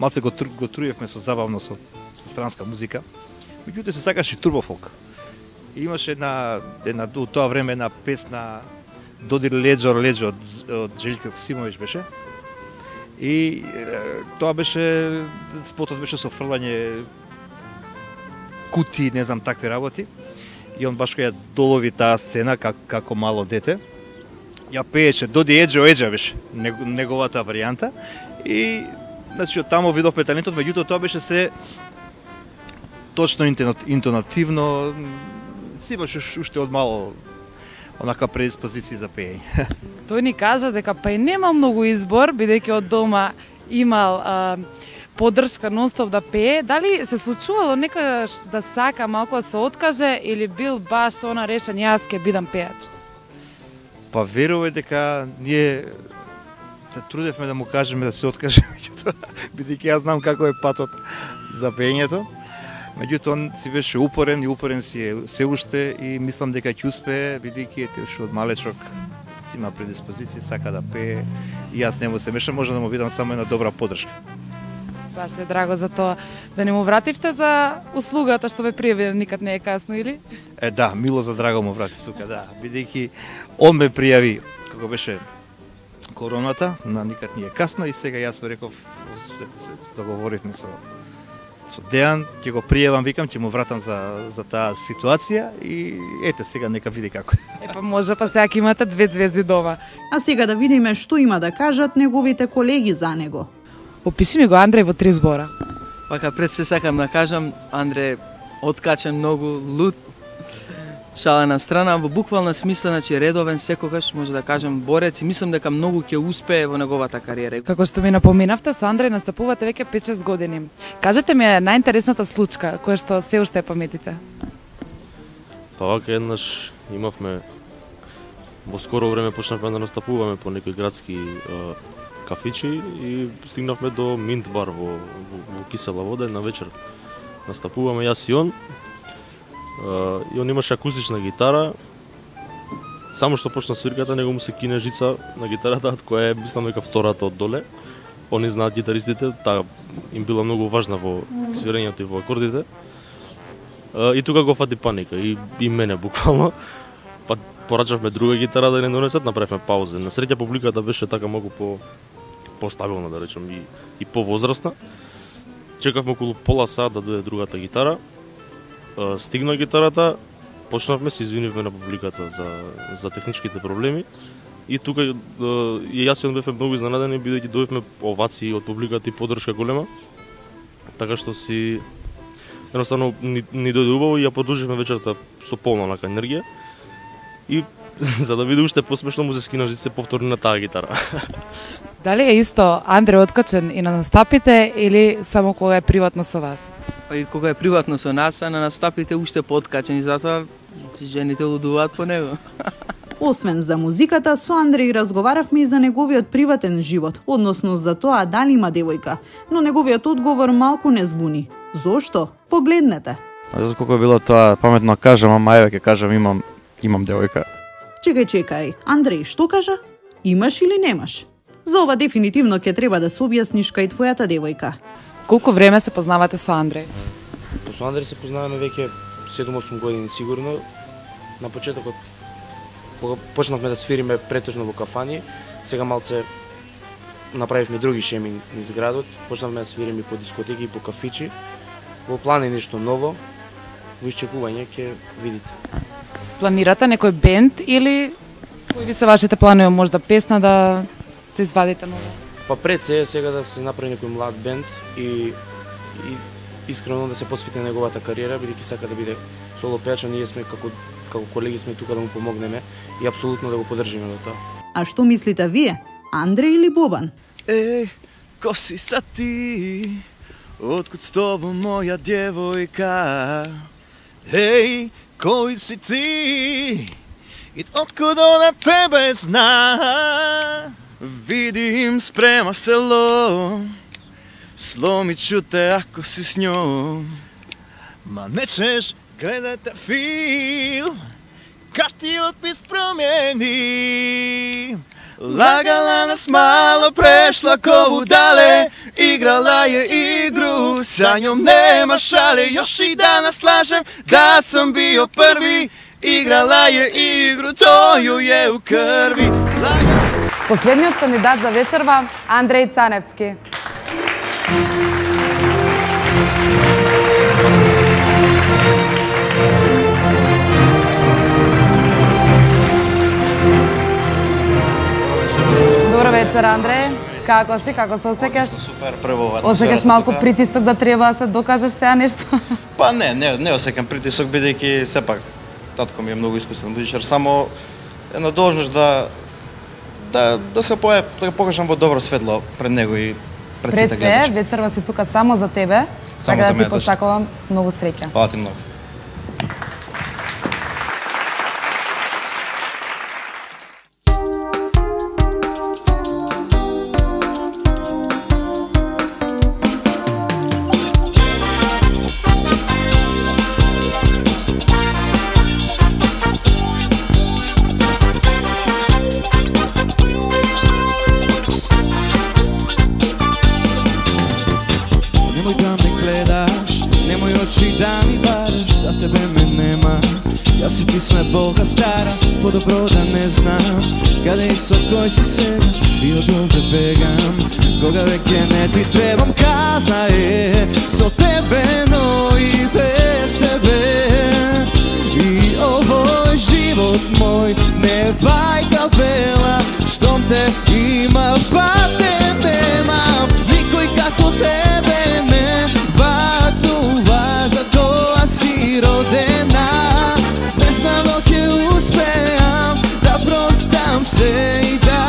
Малце го труевме со забавно со странска музика. Меѓутоа се сакаше турбофолк. И имаше една у тоа време една песна Додир леđо од Желјко Јоксимовиќ беше. И тоа беше, спотот беше со фрлање кути, не знам, такви работи. И он баш кога ја долови таа сцена како мало дете, ја пееше Доди Еđо беше неговата варијанта. И значи од таму видовме талентот, меѓутоа тоа беше се точно интонативно, си имаше уште од мало онака предиспозиција за пеење. Тој ни кажа дека па и нема многу избор, бидејќи од дома имал поддршка нонстоп да пее. Дали се случувало некогаш да сака малку да се откаже или бил баш она решен јас ќе бидам пеач? Па верувам дека ние се трудевме да му кажеме да се откаже, бидејќи јас знам како е патот за пеењето. Меѓутоа он си беше упорен и упорен си е се уште и мислам дека ќе успее, бидејќи уште од малечок си има предиспозиција, сака да пее и јас не му се мешам, може да му бидам само една добра поддршка. Баш е драго за тоа. Да не му вративте за услугата што ве пријави, никад не е касно, или? Да, мило за драго му вратив тука, да, бидејќи он ме пријави како беше короната, на никад не е касно и сега јас му реков, се договоривме со Дејан, ќе го пријавам, викам, ќе му вратам за таа ситуација и ете сега нека види како е. Па може, па сега имате 2 звезди дома. А сега да видиме што има да кажат неговите колеги за него. Опиши ми го Андреј во 3 збора. Вака пред се сакам да кажам, Андреј откачен, многу луд, шала на страна, во буквална смисла, значи редовен, секогаш може да кажам борец и мислам дека многу ќе успее во неговата кариера. Како што ми напоминавте, со Андреј настапувате веќе 5-6 години. Кажете ми најинтересната случка која што се уште паметите. Па вака еднаш имавме во скоро време почнавме да настапуваме по некои градски кафичи и стигнавме до Минт бар во Кисела вода, на вечер настапуваме јас и он. И он имаше акустична гитара. Само што почна свирката, него му се кине жица на гитарата, која е, мислам дека втората од доле. Они знаат гитаристите, таа им била многу важна во свирењето и во акордите. И тука го фати паника, и мене буквално. Па порачавме друга гитара да не донесат, направивме пауза. На среќа публиката беше така малку постабилна, да речем, и повозрастна. Чекавме околу пола сат да дојде другата гитара. Стигна гитарата, почнавме, се извинивме на публиката за техничките проблеми. И тука и јас и он бевме многу изненадени, бидејќи добивме овации од публиката и поддршка голема. Така што си едноставно ни дојде убаво и ја продолживме вечерта со полна онака енергија. И за да биде уште посмешно, му се скина жице повторно на таа гитара. Дали е исто Андреј откачен и на настапите или само кога е приватно со вас? Па и кога е приватно со нас, а на настапите уште подкачени, затоа жените лудуваат по него. Освен за музиката, со Андреј разговаравме и за неговиот приватен живот, односно за тоа дали има девојка, но неговиот одговор малку не збуни. Зошто? Погледнете. Не знам колку било тоа паметно кажам, ама еве ќе кажам имам девојка. Чекај, Андреј, што кажа? Имаш или немаш? За ова дефинитивно ќе треба да се објасниш кај твојата девојка. Колку време се познавате со Андреј? Со Андреј се познаваме веќе 7-8 години сигурно. На почетокот кога почнавме да свириме претежно во кафани, сега малце направивме други шеми низ градот, почнавме да свириме по дискотеки и по кафичи. Во план е нешто ново, во исчекување ќе видите. Планирате некој бенд или кои ви се вашите планови, можда песна да извадите ново? Па пред се сега да се направи некој млад бенд и искрено да се посвети на неговата кариера, бидејќи сака да биде соло пеач, ние сме како колеги сме тука да му помогнеме и апсолутно да го поддржиме до тоа. А што мислите вие? Андреј или Бобан? Ко си са ти? Откуд с тобом моја девојка? Кој си ти? И откуд на тебе зна? Видим спрема село, сломи чуте ако си с њом. Ма не чеш гледате фил, Картиот пис промени. Лагала нас мало, прешла кову дале, играла ја игру, sa njom nema šale, još i danas lažem da sam bio prvi, igrala je igru, to ju je u krvi. Последниот кандидат за вечерва, Андреј Цаневски. Добро вечер, Андреј. Како си? Како се осеќаш? Супер, прво. Осеќаш малку притисок да треба да се докажеш сега нешто? Па не осеќам притисок, бидејќи сепак татко ми е многу искусен музичар, само една должност да се да покажам во добро светло пред него и пред сите гледачи. Пред се, вечерва си тука само за тебе. Само така за да ти посакувам многу среќа. Фала ти многу. Болка стара, подобро да не знам каде и со кој си сега, и од овде бегам. Кога веќе не ти требам, казна е со тебе, но и без тебе. И овој живот мој не бајка бела, штом те има патен немам. Никој како тебе не бакнува, затоа си родена. Се и да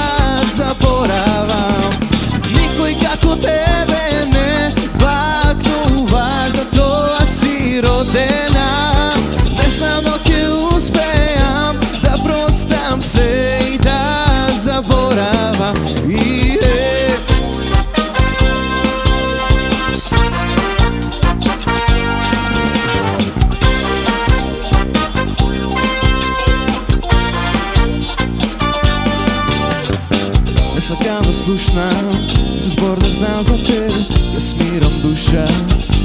заборавам. Никој како тебе не бакнува, затоа си родена. Не знам дали ќе успеам да простам се и да заборавам. Сакам да слушнам збор да знам за тебе, да смирам душа.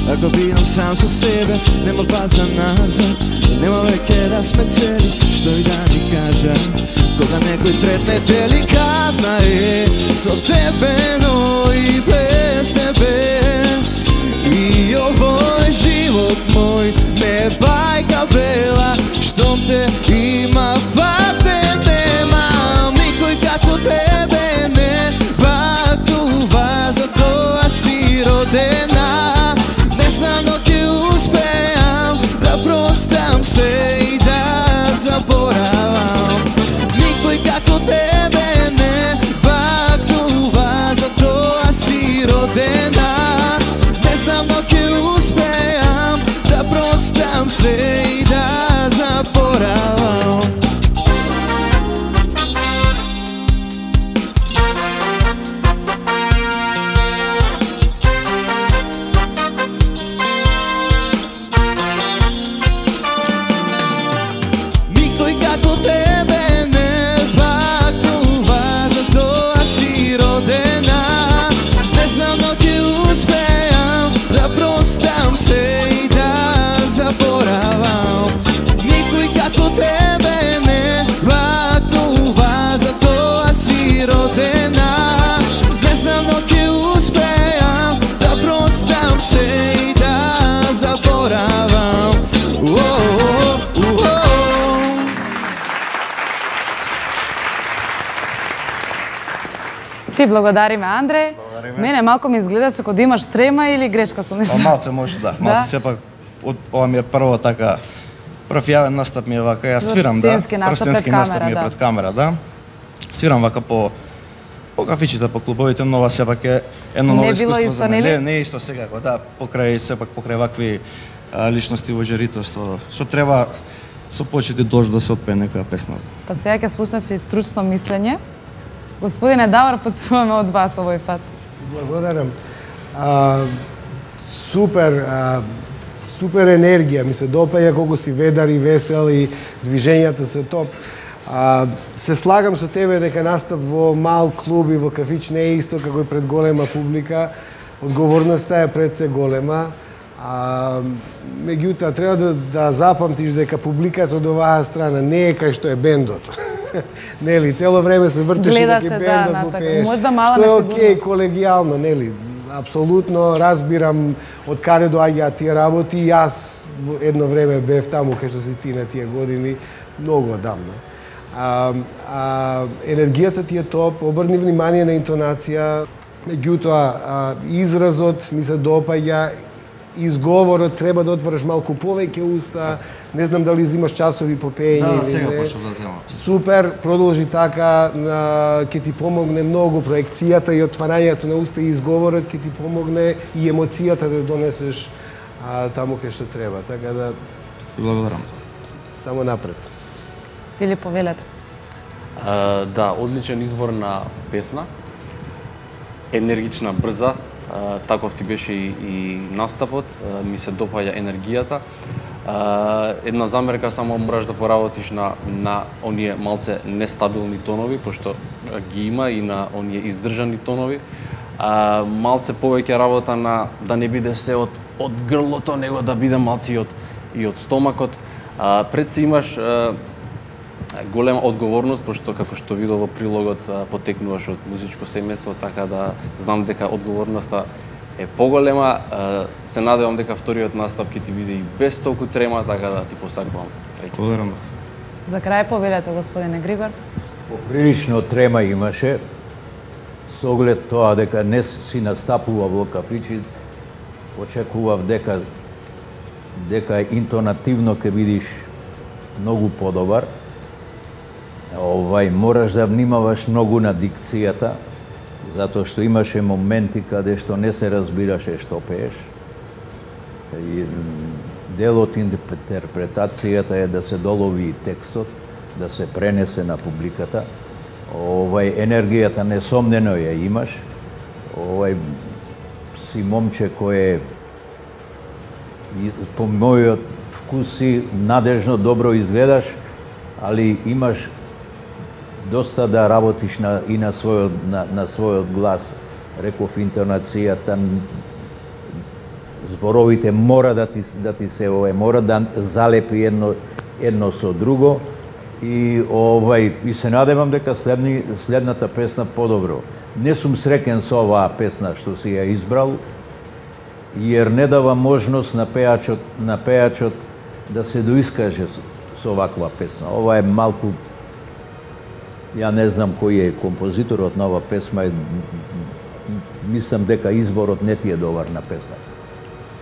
Ако бидам сам со себе, нема база назад, нема веќе да сме цели. Што и да ни кажа, кога некој третне дели, казна е со тебе, но и без тебе. И овој живот мој не бајка бела, штом те има фатен немам. Никој како тебе родена. Не знам дали ќе успеам да простам се и да заборавам. Никој како тебе не бакнува, затоа си родена. Не знам дали ќе успеам да простам се и да заборавам. Ти благодариме, Андреј. Мене малку ми изгледаше како да имаш трема или грешка со нешто. Малце може да. Малце сепак ова ми е прво така прв јавен настап ми е вака. Јас свирам првстенски настап ми е пред камера, да. Свирам вака по кафичите, по клубовите, но ова сепак е едно ново искуство за мене. Не е исто секако, да, покрај вакви личности во жирито што треба со почит и должност да се отпее некоја песна. Па сега ќе слушнеш и стручно мислење. Господине Давор, почитуваме од вас овој пат. Благодарам. Супер, супер енергија, ми се допаѓа колку си ведар и весел и движењата се топ. Се слагам со тебе дека настап во мал клуб и во кафич не е исто како и пред голема публика. Одговорноста е пред се голема. Меѓутоа, треба да запамтиш дека публиката од оваа страна не е кај што е бендот. Нели, цело време се вртиш и дека бендот го пееш. Што е окей, колегијално, нели? Апсолутно разбирам од каде доаѓаат тие работи. Јас едно време бев таму кај што си ти на тие години, многу одамна. Енергијата ти е топ, обрни внимание на интонација, меѓутоа изразот ми се допаѓа, изговорот треба да отвориш малку повеќе уста. Не знам дали взимаш часови по пеење или не. Сега почнав да земам. Супер, продолжи така, ќе ти помогне многу проекцијата и отварањето на уста и изговорот ќе ти помогне и емоцијата да донесеш таму кај што треба. Така да ти благодарам. Само напред. Филип, повелете. Да, одличен избор на песна. Енергична, брза. Таков ти беше и настапот. Ми се допаѓа енергијата. Една замерка, само мораш да поработиш на оние малце нестабилни тонови, пошто ги има и на оние издржани тонови. Малце повеќе работа на да не биде се од грлото, него да биде малце и од стомакот. Пред се имаш голема одговорност, пошто како што видов во прилогот потекнуваш од музичко семејство, така да знам дека одговорноста е поголема. Се надевам дека вториот настап ќе ти биде и без толку трема, така да ти посакувам среќа. Благодарам. За крај повелете, господине Григор. Поприлично трема имаше, со оглед тоа дека не си настапува во кафичи, очекував дека интонативно ќе бидиш многу подобар. Мораш да внимаваш многу на дикцијата, затоа што имаше моменти каде што не се разбираше што пееш. Дел од интерпретацијата е да се долови текстот, да се пренесе на публиката. Енергијата несомнено ја имаш. Си момче кој по мојот вкус си надежно добро изгледаш, али имаш доста да работиш и на својот глас. Реков, интонацијата, зборовите мора да ти се мора да залепи едно со друго и се надевам дека следната песна подобро. Не сум среќен со оваа песна што си ја избрал, јер не дава можност на пејачот да се доискаже со оваква песна. Ова е малку, ја не знам кој е композиторот на оваа песма, мислам дека изборот не ти е добар на песна.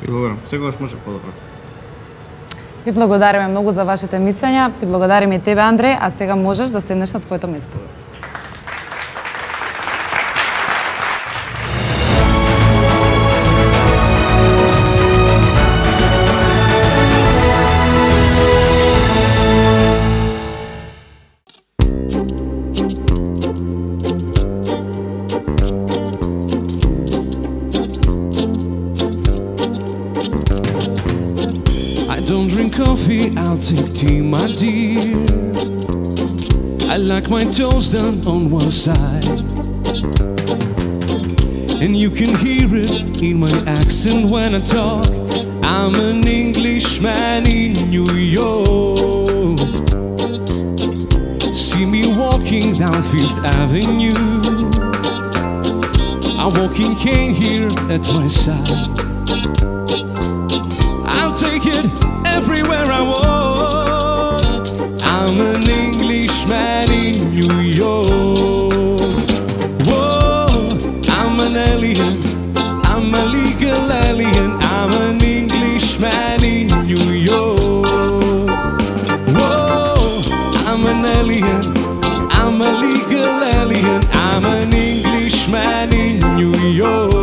И благодарам. Сегаш може подобро. Ви благодариме многу за вашите мислења. Ти благодариме и тебе, Андре, а сега можеш да седнеш на твоето место. Coffee, I'll take tea, my dear. I like my toast done on one side, and you can hear it in my accent when I talk. I'm an Englishman in New York. See me walking down Fifth Avenue, a walking cane here at my side. I'll take it everywhere I walk. I'm an Englishman in New York. Whoa, I'm an alien, I'm a legal alien. I'm an Englishman in New York. Whoa, I'm an alien, I'm a legal alien. I'm an Englishman in New York.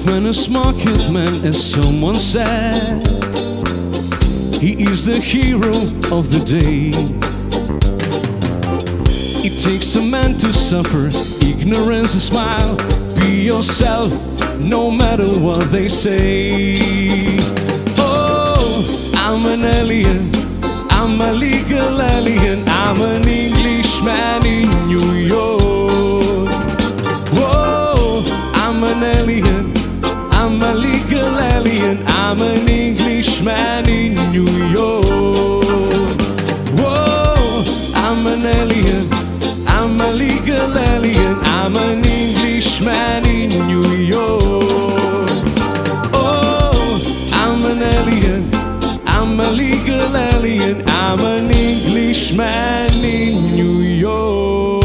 man is market man, as someone said. He is the hero of the day. It takes a man to suffer ignorance and smile. Be yourself, no matter what they say. Oh, I'm an alien, I'm a legal alien, I'm an Englishman in New York. Whoa, I'm an alien, I'm a legal alien, I'm an Englishman in New York. Whoa, I'm an alien, I'm a legal alien, I'm an Englishman in New York. Oh, I'm an alien, I'm a legal alien, I'm an Englishman in New York.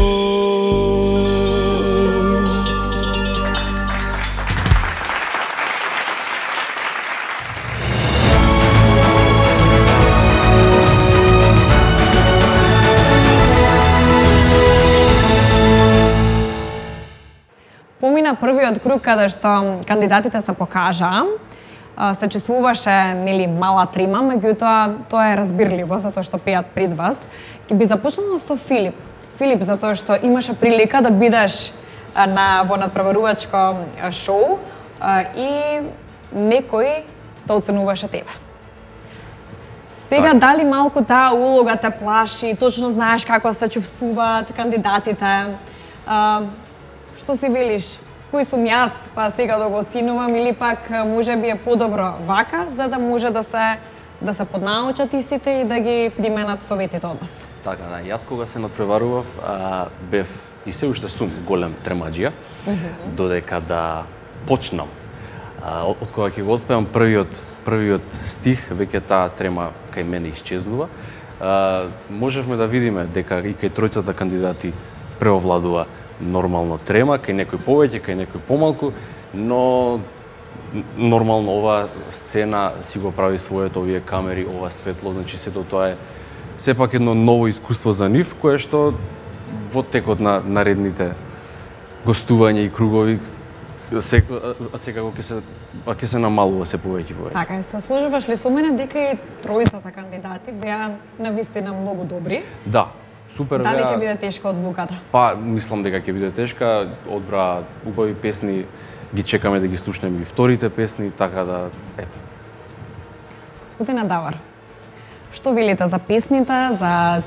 Помина првиот круг каде што кандидатите се покажаа. Се чувствуваше нели мала трима, меѓутоа тоа е разбирливо затоа што пеат пред вас. Ќе би започнала со Филип. Филип затоа што имаше прилика да бидеш во надпреварувачко шоу и некој те оценуваше тебе. Сега дали малку таа улога те плаши, точно знаеш како се чувствуваат кандидатите? Што си велиш? Кој сум јас, па сега да го оценувам или пак можеби е подобро вака, за да може да се поднаучат истите и да ги применат советите од вас? Така, да, јас кога се надпреварував, бев и се уште сум голем тремаџија, додека да почнам. Од кога ќе го отпеам првиот стих, веќе таа трема кај мене исчезнува. Можевме да видиме дека и кај тројцата кандидати преовладува нормално трема, кај некој повеќе, кај некој помалку, но нормално ова сцена си го прави своето, овие камери, ова светло, значи сето тоа е сепак едно ново искуство за нив, кое што во текот на наредните гостувања и кругови секако ќе се намалува се повеќе. Така, се сложуваш ли со мене дека и тројцата кандидати беа навистина многу добри? Да. Супер. Дали ќе биде тешка одлуката? Па, мислам дека ќе биде тешка. Одбра убави песни, ги чекаме да ги слушнеме и вторите песни, така да, ето. Господине Давар, што велите за песните, за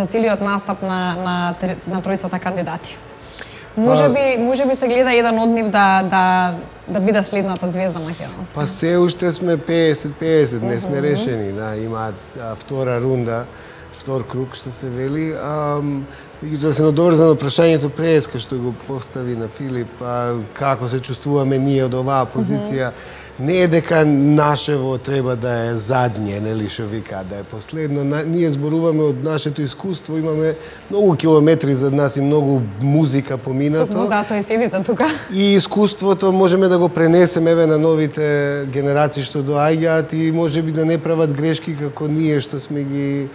целиот настап на тројцата кандидати? Може би се гледа еден од нив да биде следната звезда македонска. Па се уште сме 50-50, не сме решени, да, имаат втора рунда. Втор круг, што се вели. Да се надоврзам на прашањето преска што го постави на Филип, како се чувствуваме ние од оваа позиција. Не е дека нашево треба да е задње, нели што вика, да е последно. Ние зборуваме од нашето искуство, имаме многу километри зад нас и многу музика поминато. Токму затоа и седите тука. И искуството можеме да го пренесеме на новите генерации што доаѓаат и можеби да не прават грешки како ние што сме ги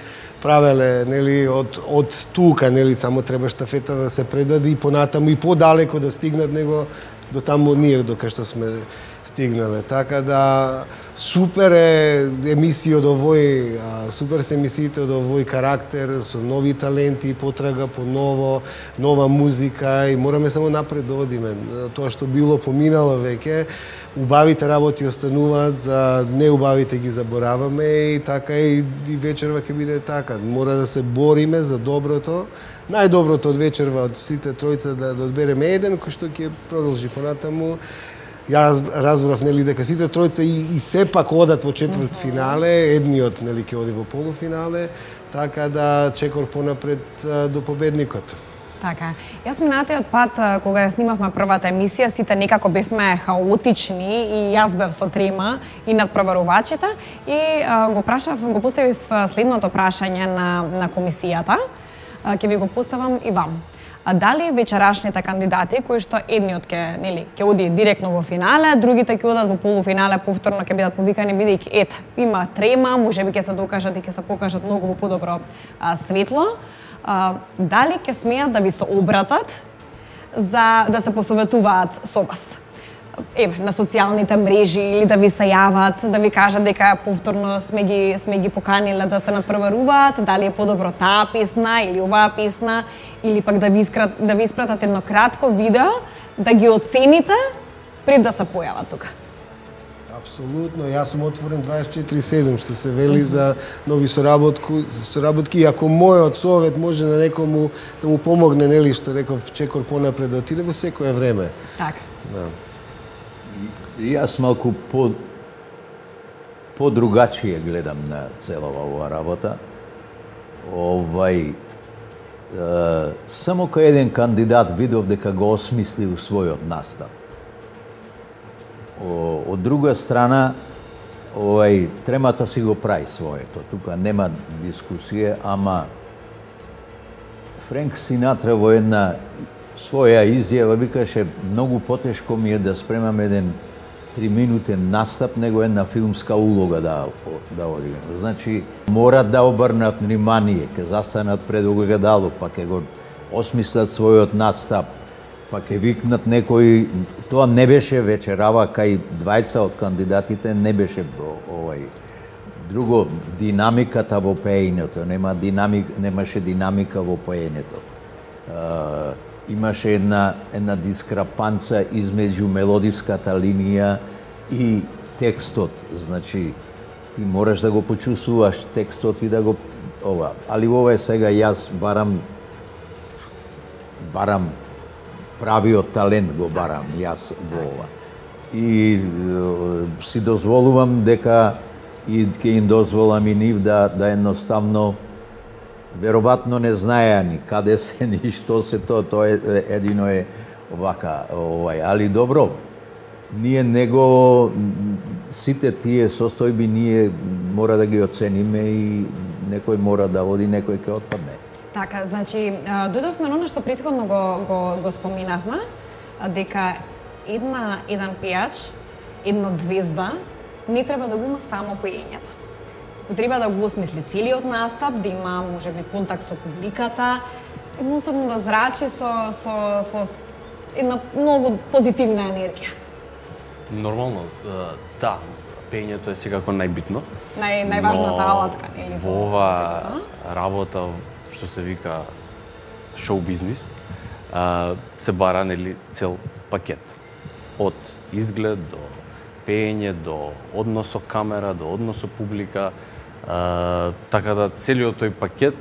правеле, нели, од тука, нели, само треба штафета да се предаде и понатаму и подалеко да стигнат него до таму ние дока што сме стигнале. Така да супер е емисија од овој, супер се емисиите од овој карактер со нови таленти, потрага по ново, нова музика и мораме само напред да одиме. Тоа што било поминало веќе, убавите работи остануваат, за неубавите ги забораваме и така и вечерва ќе биде така. Мора да се бориме за доброто. Најдоброто од вечерва од сите тројца да одбереме еден кој што ќе продолжи понатаму. Ја разбрав нели дека сите тројца и сепак одат во четврт финале, едниот нели ќе оди во полуфинале, така да чекор понапред до победникот. Така. Јас минатиот пат, кога снимавме првата емисија, сите некако бевме хаотични и јас бев со трема и надпреварувачите и го поставив следното прашање на комисијата. Ќе ви го поставам и вам. Дали вечерашните кандидати, кои што едниот ќе оди директно во финале, другите ќе одат во полуфинале, повторно ќе бидат повикани, бидејќи има трема, можеби ќе се докажат и ќе се покажат многу во подобро светло. Дали ќе смеат да ви се обратат за да се посоветуваат со вас? на социјалните мрежи или да ви се јават, да ви кажат дека повторно сме ги поканиле да се надпреваруваат, дали е подобро таа песна или оваа песна, или пак да ви испратат едно кратко видео, да ги оцените пред да се појават тука. Апсолутно, јас сум отворен 24/7 што се вели за нови соработки, и ако мојот совет може на некому да му помогне, нели што реков чекор понапред да отиде во секое време. Така. Да. Јас малку по-другачие гледам на целава оваа работа. Само кај еден кандидат видов дека го осмислил својот настап. Од друга страна, тремата си го прави своето. Тука нема дискусија, ама Френк Синатра во една своја изјава викаше многу потешко ми е да спремам еден 3-минутен настап него една филмска улога да одиграм. Значи, мора да обрнат внимание, ке застанат пред огледало, па ке го осмислат својот настап, па ке викнат некој. Тоа не беше вечерава кај двајца од кандидатите, не беше друго, динамиката во пеењето, немаше динамика во пеењето. Имаше една дискрапанца измеѓу мелодиската линија и текстот. Значи, ти мораш да го почувствуваш текстот и да го Али ова е сега јас барам правиот талент го барам јас во ова. И си дозволувам дека и ќе им дозволам и нив да едноставно веројатно не знаеа ни каде се ни што се тоа едино е овака, али добро. Ние него сите тие состојби ние мора да ги оцениме и некој мора да оди, некој ќе отпадне. Така, значи, дојдовме на оно што претходно го споминавме, дека еден пејач, една звезда, не треба да го има само поењето. Треба да го осмисли целиот настап, да има можеби контакт со публиката, едноставно да зрачи со една многу позитивна енергија. Нормално, да, пеењето е секако најбитно. Најважната алатка, нели? Во ова работа, што се вика шоу бизнис, се бара, нели, цел пакет. Од изглед до пеење, до однос со камера, до однос со публика, така да целиот тој пакет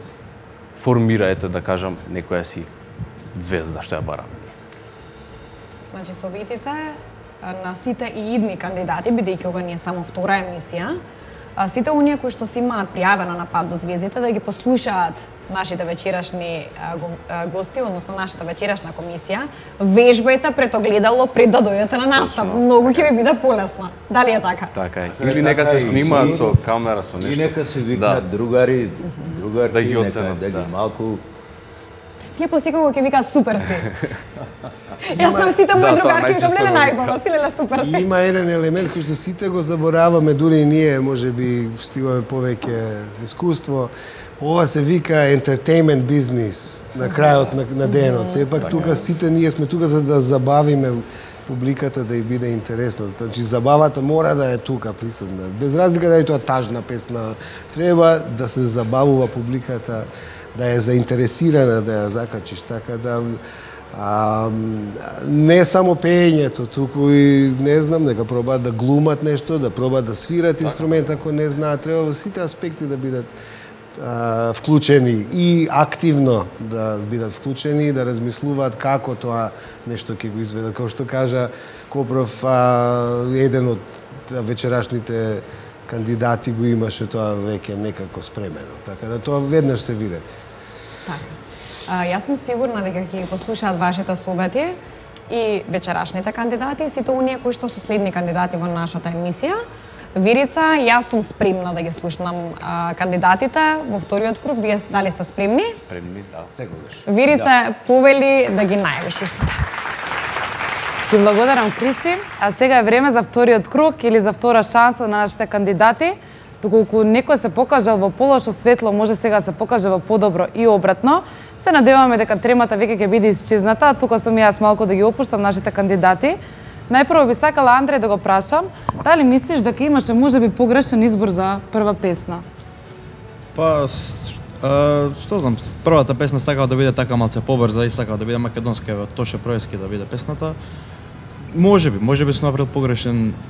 формира, да кажам, некоја си звезда што ја бараме. Значи, советите на сите и идни кандидати, бидејќи ова не е само втора емисија, сите оние кои што си имаат пријавено на пат до звездите да ги послушаат нашите вечерашни гости, односно нашата вечерашна комисија, вежбајте пред огледало пред да дојдете на настап. Многу ќе ви биде полесно. Дали е така? Така е. Или нека се снимаат со камера, со нешто. И нека се викнат другари, да ги оценат, да ги малку. Тие посекогу ќе викаат супер си. Јас на сите мои другарки викам леле најбава си, леле супер си. Има еден елемент кој што сите го забораваме, дури и ние, можеби што имаме повеќе искуство. Ова се вика entertainment бизнис на крајот на денот. Сепак тука сите ние сме тука за да забавиме публиката, да ја биде интересно. Значи забавата мора да е тука присутна. Без разлика да е тоа тажна песна, треба да се забавува публиката, да е заинтересирана да ја закачиш, така да не само пеењето, туку и не знам, нека пробаат да глумат нешто, да пробаат да свират инструмент ако не знаат, треба во сите аспекти да бидат вклучени и активно да бидат вклучени и да размислуваат како тоа нешто ќе го изведат. Како што кажа Копров, еден од вечерашните кандидати го имаше тоа веќе некако спремено. Така да тоа веднаш се виде. Така. Јас сум сигурна дека ќе ги послушаат вашите совети и вечерашните кандидати, сите оние кои што се следни кандидати во нашата емисија. Верица, јас сум спремна да ги слушнам кандидатите во вториот круг. Вие дали сте спремни? Спремни, да, секогаш. Верица повели да ги најавиш истите. Ти благодарам, Криси. А сега е време за вториот круг или за втора шанса на нашите кандидати. Доколку некој се покажал во полошо светло, може сега се покаже во подобро и обратно. Се надеваме дека тремата веќе ќе биде исчезната. Тука сум јас малку да ги опуштам нашите кандидати. Најпрво би сакала Андре да го прашам, дали мислиш дека имаше можеби погрешен избор за прва песна? Па, што знам, првата песна сакала да биде така малце побрза и сакала да биде македонска, еве Тоше Проевски да биде песната. Можеби сум направил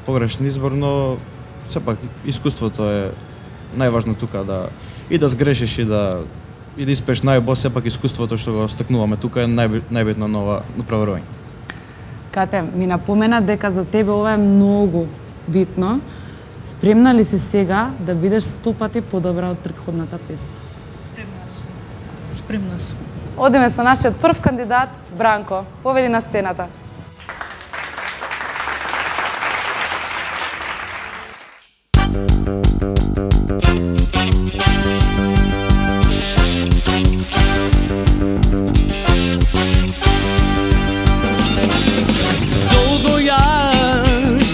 погрешен избор, но сепак искуството е најважно тука, да и да сгрешиш и да испееш најбо, сепак искуството што го стекнуваме тука е најбитно на праворање. Кате, ми напомена дека за тебе ова е многу битно. Спремна ли си сега да бидеш 100 пати подобра од претходната песна? Спремна сум. Одиме со нашиот прв кандидат, Бранко. Поведи на сцената.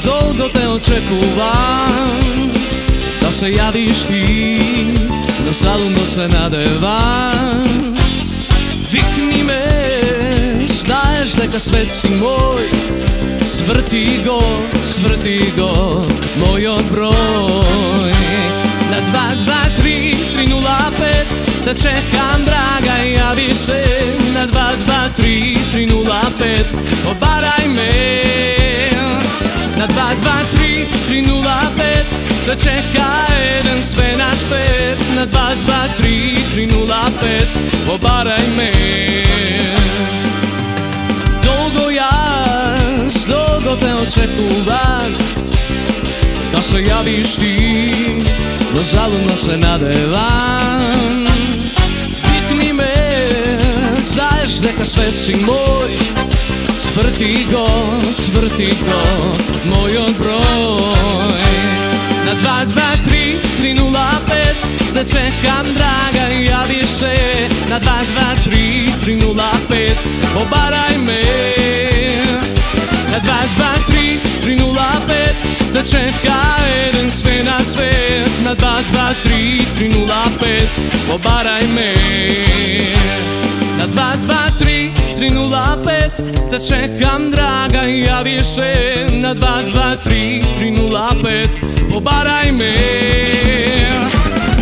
Долго те очекувам да се јавиш ти, да салудно се надевам. Викни ме, знаеш дека свет си мој, сврти го, мојот број. На 223-305 те чекам, драга, јави се. На 223-305 обарај ме. На 223-305 да чека еден свенат свет. На 223-305 обарај ме. Долго те очекувам да се јавиш ти, но залудно се надевам. Викни ме, знаеш дека свет си мој, сврти го, мојот број. На 223-305 да чекам, драга, јави се. На 223-305 обарај ме. На 223-305 да чека еден свенат свет. На 223-305 обарај ме. На 223-305 да чекам, драга, јави се. На 223-305 обарај ме.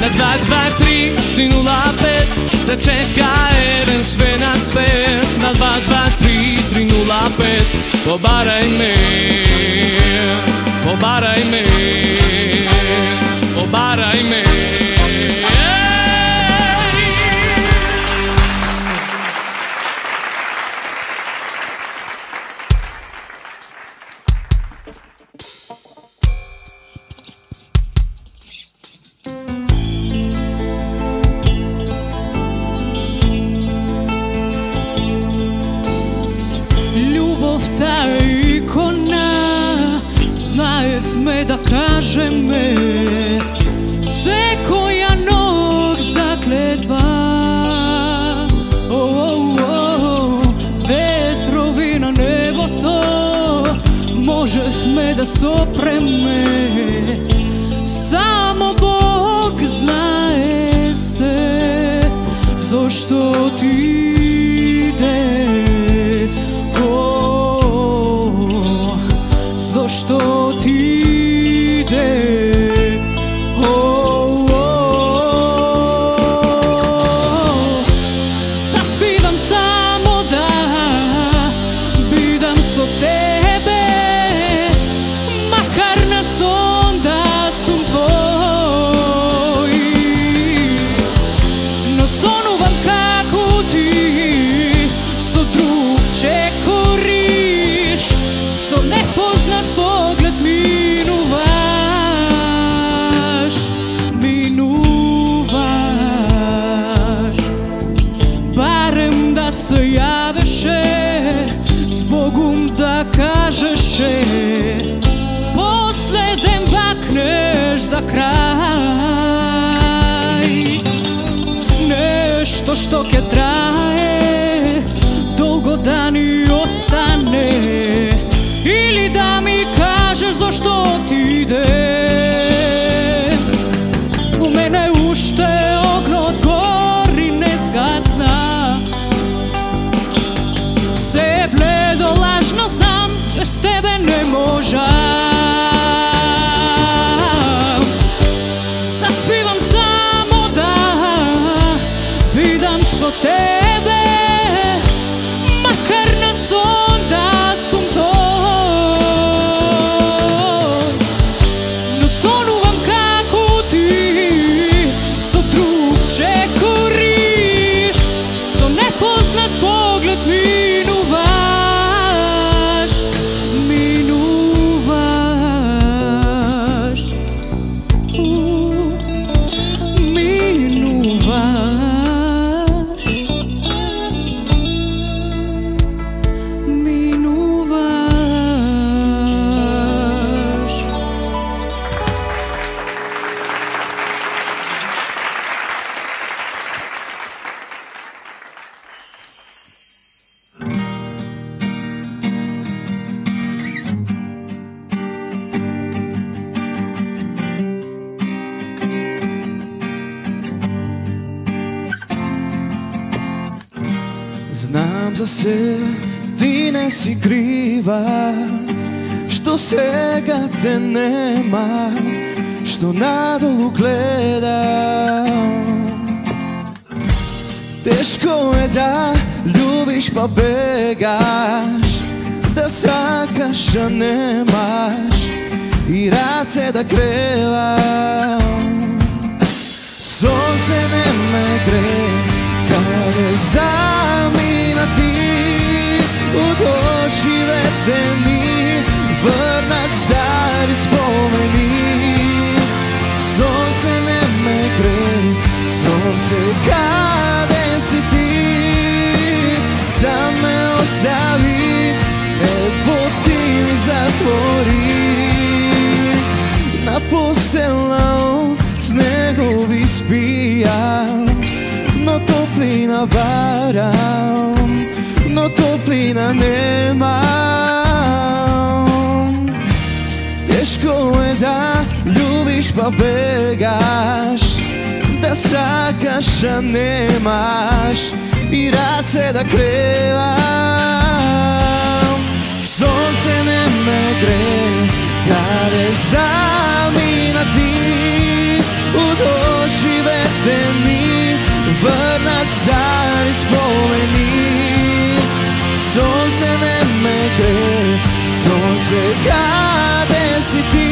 На 223-305 да чека еден свенат свет. На 223-305 обарај ме. Обарај ме. Обарај ме. Да кажеме секоја ног заклетва. Ветрови на небото можевме да сопреме. Само Бог знае се зошто ти иде. Зошто ти заспивам само да бидам со тебе, макар на сон да сум твој. Но сонувам како ти со друг чекориш, со непознат поглед минуваш. Барем да се јавеше, с Богом да кажеше, последен бакнеш за крај. Нешто што ќе трае, долго да ни остане, или да ми кажеш зошто ти иде. У мене уште огнот гори не згасна. Се бледо лажно знам, без тебе не за се, ти не си крива, што сега те нема, што надолу гледам. Тешко е да љубиш па бегаш, да сакаш а немаш и раце да кревам. Сонце не ме гре, каде замина ти, од очивете ни врнат стари спомени. Сонце не ме гре, сонце каде си ти, сам ме остави, небо ти ми затвори. На постела од снегови спијам, но топлина барам, но топлина немам. Тешко е да љубиш па бегаш, да сакаш а немаш и раце да кревам. Сонце не ме гре, каде замина ти, од очивете ни врнат стари спомени. Сонце не ме гре, сонце каде си ти,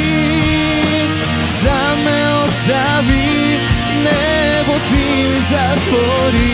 сам ме остави, небо ти ми затвори.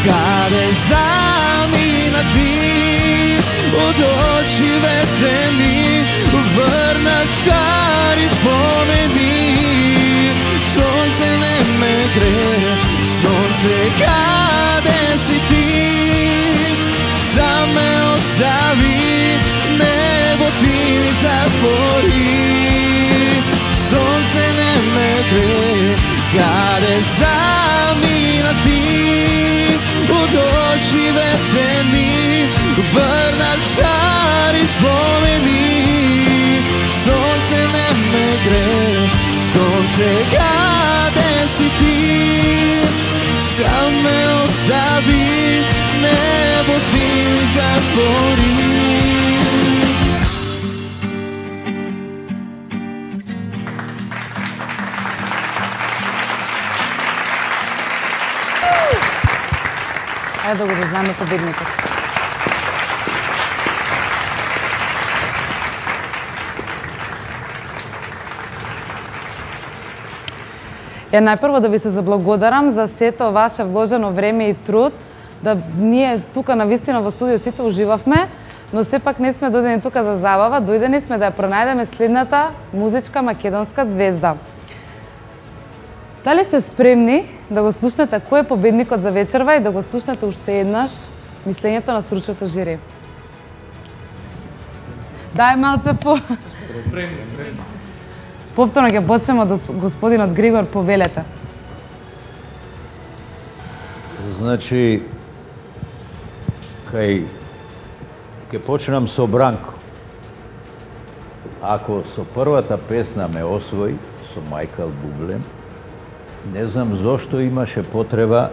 Каде замина ти, од очивете ни врнат стари спомени. Сонце не ме гре, сонце каде си ти, сам ме остави, небо ти ми затвори. Сонце не ме гре, каде замина ти, од очивете ни врнат стари спомени. Сонце не ме гре, сонце каде си ти, сам ме остави, небо ти ми затвори. Ајде да го дознаме победникот. Најпрво да ви се заблагодарам за сето ваше вложено време и труд, да ние тука навистина во студио сите уживавме, но сепак не сме дојдени тука за забава, дојдени сме да ја пронајдеме следната музичка македонска звезда. Дали сте спремни да го слушнете кој е победникот за вечерва и да го слушнете уште еднаш мислењето на стручното жири? Дај малце по... Повторно ќе почнеме од господинот Григор, повелете. Значи, ќе почнам со Бранко. Ако со првата песна ме освои, со Мајкал Бублем, не знам зошто имаше потреба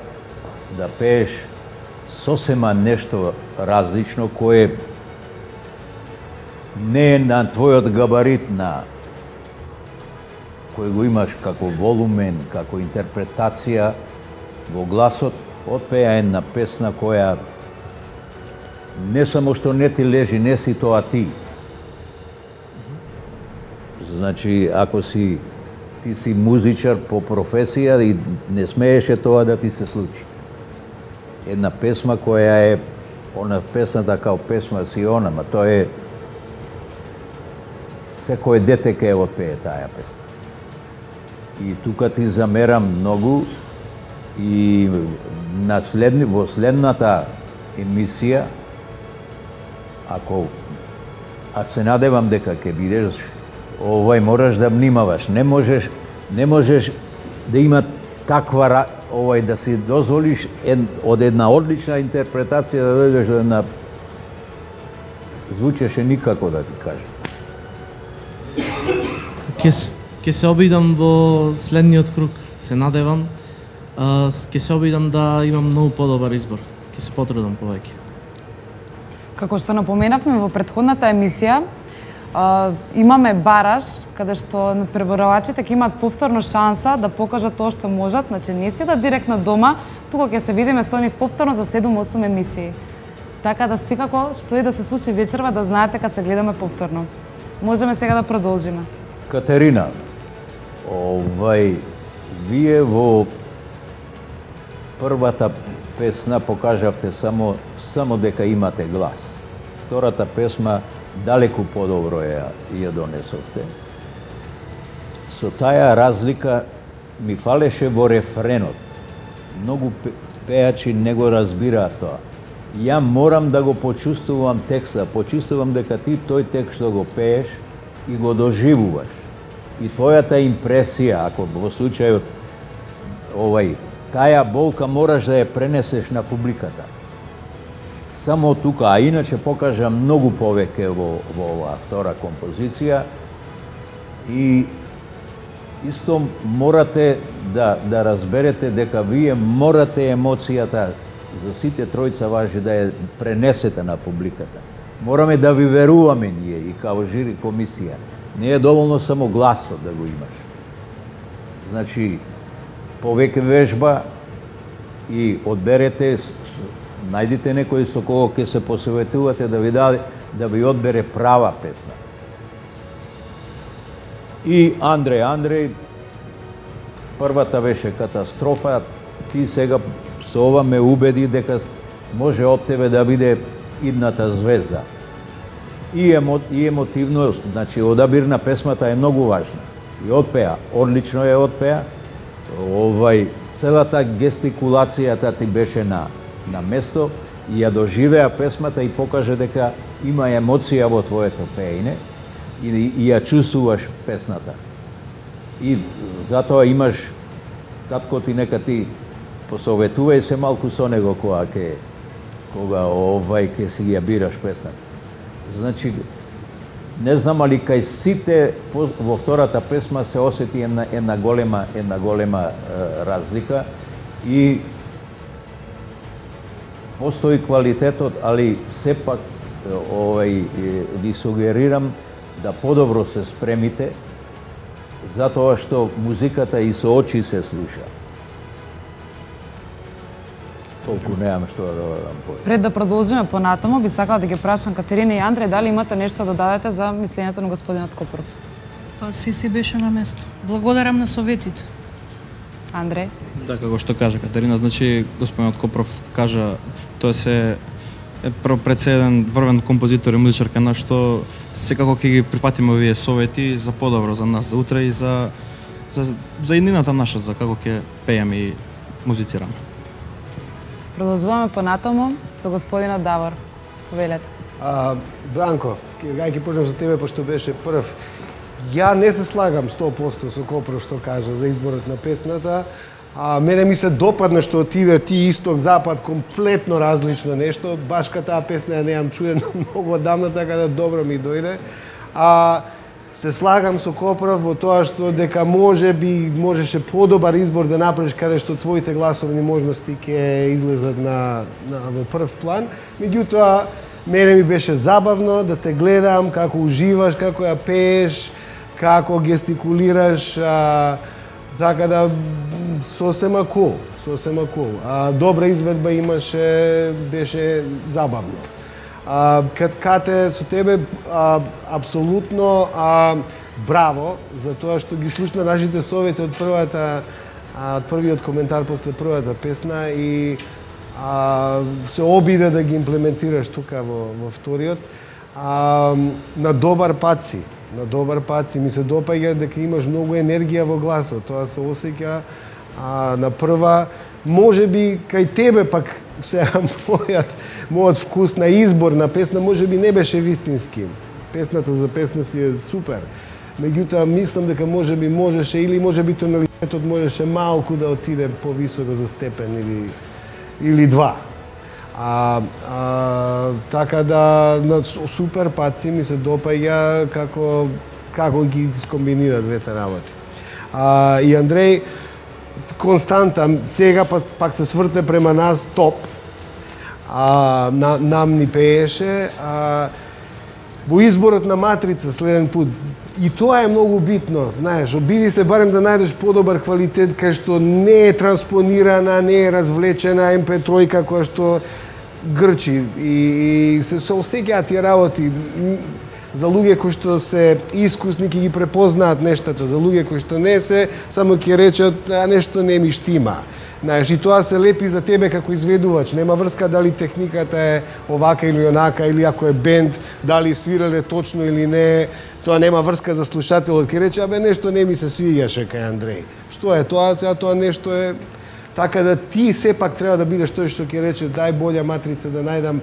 да пееш сосема нешто различно, кое не е на твојот габарит, на кој го имаш како волумен, како интерпретација во гласот, отпеа една песна која не само што не ти лежи, не си тоа ти. Значи, ако ти си музичар по професија и не смееше тоа да ти се случи. Една песма која е, она песната као песма си она, ма тоа е секој дете ке отпее таа песна. И тука ти замерам многу И во следната емисија, а се надевам дека ќе бидеш, мораш да внимаваш. Не можеш да има таква да си дозволиш од една одлична интерпретација да дојдеш до една звучеше никако да ти кажам. Ќе се обидам во следниот круг, се надевам. Ќе се обидам да имам многу подобар избор. Ќе се потрудам повеќе. Како што напоменавме во претходната емисија, имаме бараж каде што преборувачите ќе имаат повторно шанса да покажат тоа што можат, значи не си да директно дома, тука ќе се видиме со нив повторно за 7-8 емисии. Така да секако што и да се случи вечерва да знаете кога се гледаме повторно. Можеме сега да продолжиме. Катерина, вие во првата песна покажавте само дека имате глас. Втората песма далеку подобро ја донесовте. Со таа разлика ми фалеше во рефренот. Многу пеачи не го разбираат тоа. Ја морам да го почувствувам текста, почувствувам дека ти тој текст што го пееш и го доживуваш. И твојата импресија, ако во случајот таа болка мораш да ја пренесеш на публиката. Само тука, а иначе покажа многу повеќе во оваа втора композиција и исто морате да разберете дека вие морате емоцијата за сите тројца важи да ја пренесете на публиката. Мораме да ви веруваме ние и као жири комисија. Не е доволно само гласот да го имаш. Значи, повеќе вежба и одберете, најдите некој со кого ќе се посоветувате да ви одбере права песна. И Андреј, првата беше катастрофа, ти сега со ова ме убеди дека може од тебе да биде идната звезда. И емотивно, значи одабир на песмата е многу важна. И одпеа, одлично ја одпеа. Целата гестикулацијата ти беше на место и ја доживеа песмата и покаже дека има емоција во твоето пеење и ја чувствуваш песната. И затоа имаш, татко ти нека ти посоветувај се малку со него кога ќе си ја бираш песната. Значи, не знам али кај сите во втората песма се осети една голема разлика и постои квалитетот, али сепак ви сугерирам да подобро се спремите, затоа што музиката и со очи се слуша. Толку немам што да додадам повеќе. Пред да продолжиме понатаму, би сакала да ги прашам Катерина и Андреј, дали имате нешто да додадете за мислењето на господинот Копров? Па си беше на место. Благодарам на советите. Андреј? Да, како што кажа Катерина, значи господинот Копров кажа, тоа се пред се еден врвен композитор и музичарка на што секако ќе ги прифатиме овие совети за подобро за нас за утре и за иднината наша, за како ќе пееме и музицираме. Продолжуваме понатаму со господинот Давор. Повелете. Бранко, ќе почнем за тебе, пошто беше прв. Ја не се слагам 100% со Копров што кажа за изборот на песната. Мене ми се допадна што отиде ти исток-запад, комплетно различно нешто. Баш ка таа песна ја неам чуена многу одамна, така да добро ми дојде. Се слагам со Копров во тоа што дека можеше подобар избор да направиш каде што твоите гласовни можности ќе излезат во прв план. Меѓутоа, мене ми беше забавно да те гледам како уживаш, како ја пееш, како гестикулираш, така да сосема кул. Добра изведба имаше, беше забавно. Кате, со тебе апсолутно браво за тоа што ги слушна нашите совети од првиот коментар после првата песна и се обиде да ги имплементираш тука во вториот. На добар пат си. Ми се допаѓа дека имаш многу енергија во гласот. Тоа се осеќа на прва. може би кај тебе пак сега мојот вкус на избор на песна може би не беше вистински. Песната за песна си е супер. Меѓутоа мислам дека може би можеше или може би тоналитетот можеше малку да отиде повисоко за степен или два. Така да супер паци ми се допаѓа како ги скомбинира двете работи. И Андреј константа сега пак се сврте према нас топ. Нам ни пееше во изборот на матрица следен пут. И тоа е многу битно, знаеш, обиди се барем да најдеш подобар квалитет кај што не е транспонирана, не е развлечена MP3 која што грчи и се осеќаат тие работи за луѓе кои што се искусни ќе ги препознаат нештата, за луѓе кои што не се, само ќе речат нешто не ми штима. Знаеш, и тоа се лепи за тебе како изведувач, нема врска дали техниката е овака или онака, или ако е бенд, дали свирале точно или не, тоа нема врска за слушателот, ќе рече, нешто не ми се свиѓаше кај Андреј. Што е тоа? Сега тоа нешто е така да ти сепак треба да бидеш тој што ќе рече дај болја матрица да најдам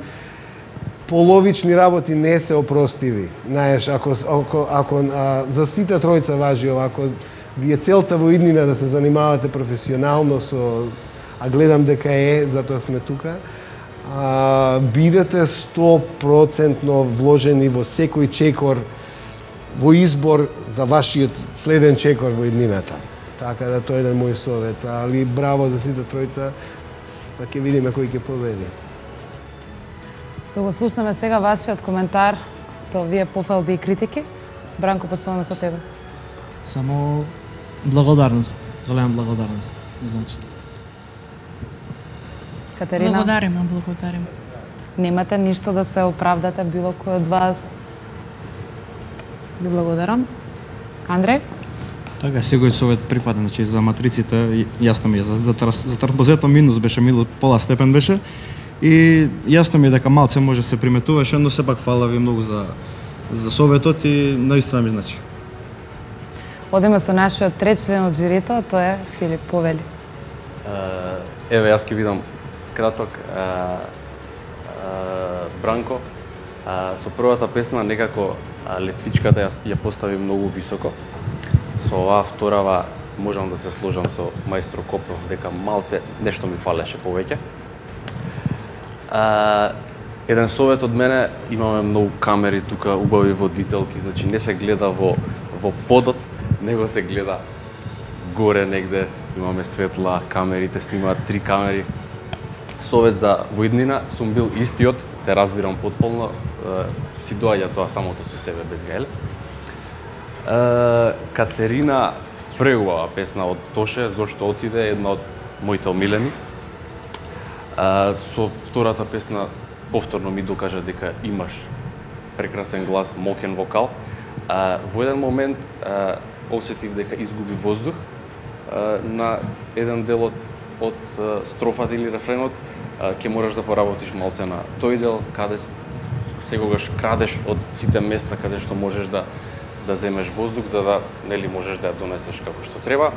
половични работи не се опростиви. Знаеш, ако за сите тројца важи ова, ако вие целта во иднина да се занимавате професионално со, гледам дека затоа сме тука, бидете 100% вложени во секој чекор, во избор за вашиот следен чекор во иднината. Така да тоа е еден мој совет, али браво за сите тројца, па ќе видиме кој ќе победи. Да го слушнеме сега вашиот коментар со овие пофалби и критики. Бранко, почнуваме со тебе. Само благодарност, голема благодарност, значи. Катерина? Благодарим. Немате ништо да се оправдате било кој од вас? Ви благодарам. Андреј? Така, секој совет прифатен, значи за матриците, јасно ми е, за транспозетот минус беше, пола степен беше, и јасно ми е дека малце може се приметуваше, но сепак фала ви многу за советот и наистина ми значи. Одиме со нашиот трет член од жирито, тоа е Филип, повели. Еве, јас ќе видам краток. Бранко, со првата песна некако летвичката ја постави многу високо. Со оваа вторава можам да се сложам со мајстро Копро, дека малце нешто ми фалеше повеќе. Еден совет од мене, имаме многу камери тука, убави водителки, значи не се гледа во подот, него се гледа горе негде, имаме светла, камерите снимаат 3 камери. Совет за воиднина, сум бил истиот, те разбирам потполно, си доаѓа тоа самото со себе без гајле. Катерина, преубава песна од Тоше, зошто отиде, една од моите омилени. Со втората песна повторно ми докажа дека имаш прекрасен глас, мокен вокал. Во еден момент осетив дека изгуби воздух на еден дел од строфата или рефренот, ќе мораш да поработиш малце на тој дел, каде секогаш крадеш од сите места каде што можеш да земеш воздух, за да можеш да ја донесеш како што треба.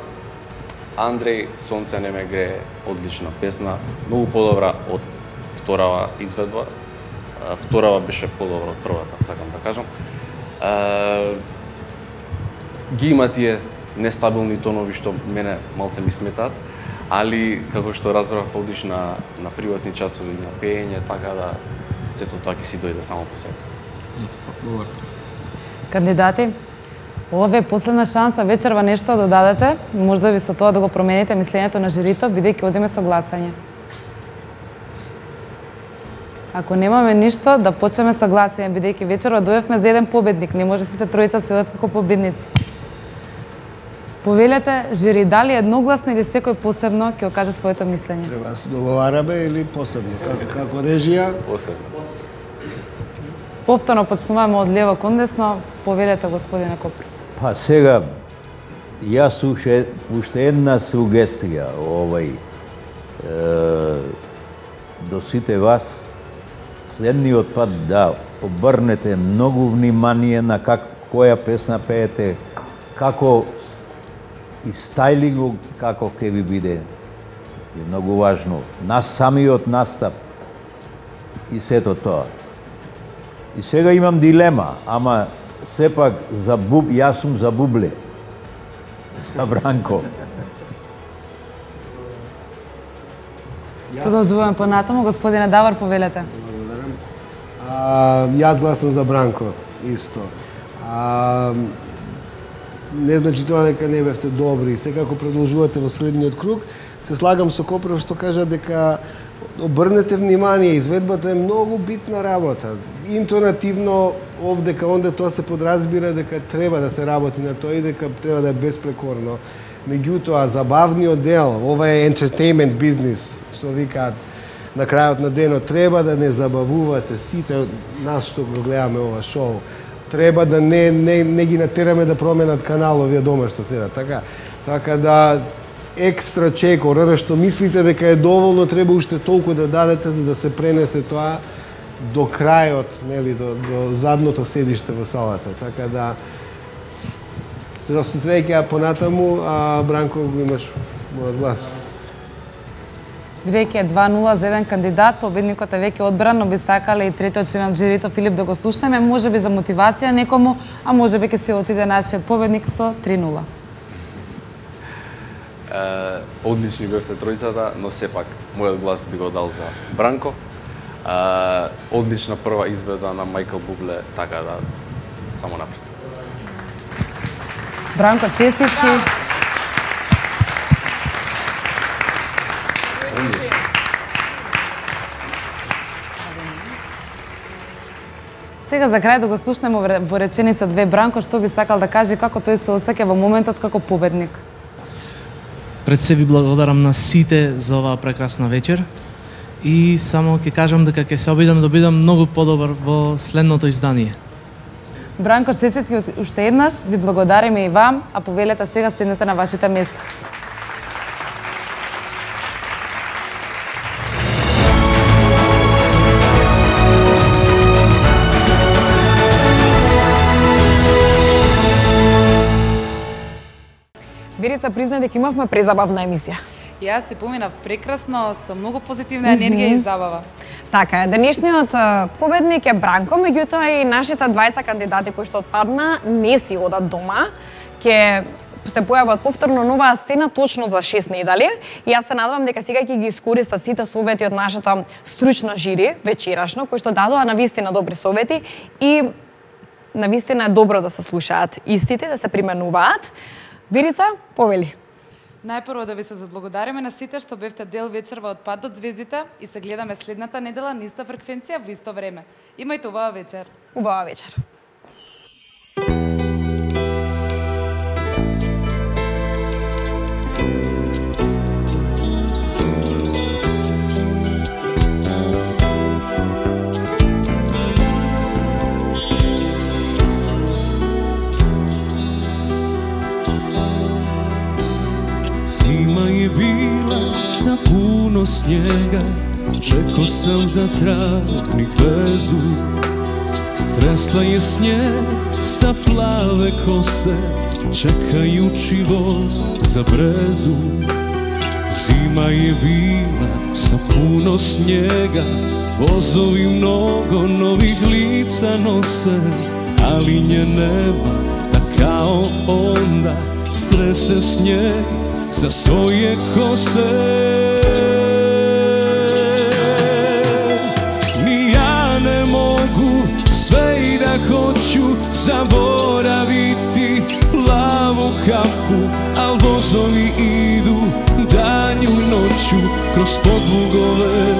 Андреј, Сонце не ме грее, одлична песна, многу подобра од вторава изведба. Вторава беше подобра од првата, сакам да кажам. Ги има тие нестабилни тонови што мене малце ми сметаат, али како што разбрав одиш на приватни часови, на пеење, така да сето тоа ќе си дојде само по себе. Кандидати, ова е последна шанса вечерва нешто да дадете, можда би со тоа да го промените мислењето на жирито, бидејќи одиме со гласање. Ако немаме ништо, да почнеме со гласање, бидејќи вечерва дојавме за еден победник, не може сите тројца се одат како победници. Повелете, жири, дали едногласно или секој посебно ќе окаже своето мислење? Треба да се договараме или посебно? Како режија? Посебно. Повторно почнуваме од лево кон десно. Повелете, господине Копро. Па сега, јас уште една сугестија до сите вас. Следниот пат да обрнете многу внимание на која песна пеете, како и стајлингу, како ќе ви биде е многу важно. Нас самиот настап и сето тоа. И сега имам дилема, ама сепак јас сум за Бубле. За Бранко. Продолжуваме понатаму, господине Давор, повелете. Јас гласам за Бранко, исто. Не значи тоа дека не бевте добри. Секако продолжувате во следниот круг. Се слагам со Копрев што кажа дека обрнете внимание, изведбата е многу битна работа. Интонативно овдека онде тоа се подразбира дека треба да се работи на тоа и дека треба да е безпрекорно. Меѓутоа, забавниот дел, ова е entertainment бизнис, што викаат на крајот на денот, треба да не забавувате сите нас што го гледаме ова шоу. Треба да не ги натераме да променат канал овие дома што седат, така да екстра чек, ора што мислите дека е доволно, треба уште толку да дадете за да се пренесе тоа до крајот, нели, до задното седиште во салата. Така да се среќа понатаму, а Бранко го имаш мојот глас. Бидејќи е 2-0 за еден кандидат, победникот е веќе одбран, но би сакале и третиот член од жирито Филип да го слушнеме, можеби за мотивација некому, а можеби ќе се отиде нашиот победник со 3-0. Одлични бевте тројцата, но сепак мојот глас би го дал за Бранко. Одлична прва избеда на Мајкл Бубле, така да само напред. Бранко, честитки. Сега за крај да го слушнеме во реченица 2 Бранко, што би сакал да каже, како тој се осеќа во моментот како победник. Пред се ви благодарам на сите за оваа прекрасна вечер и само ќе кажам дека ќе се обидам да бидам многу подобар во следното издание. Бранко, честитки уште еднаш, ви благодариме и вам, а повелете сега седнете на вашите места. Верица призна дека имавме презабавна емисија. Јас си поминав прекрасно, со многу позитивна енергија и забава. Така е, денешниот победник е Бранко, меѓутоа и нашите двајца кандидати кои што отпадна не си одат дома, ќе се појават повторно нова сцена точно за 6 недели и јас се надевам дека сега ќе ги искористат сите совети од нашата стручно жири вечерашно, кои што дадоа навистина добри совети и навистина е добро да се слушаат истите, да се применуваат. Верица, повели. Најпрво да ви се заблагодариме на сите што бевте дел вечерва од Пат од звездите и се гледаме следната недела на иста фреквенција во исто време. Имајте убава вечер. Убава вечер. Зима je bila sa puno snijega, čekao sam za travnik vezu. Stresla je snijeg sa plave kose, čekajući voz za brezu. Zima je bila sa puno snijega, vozovi mnogo novih lica nose, ali nje nema da kao onda strese snijeg za svoje kose. Ni ja ne mogu sve i da hoću zaboraviti plavu kapu, al vozovi idu danju i noću kroz podlugove,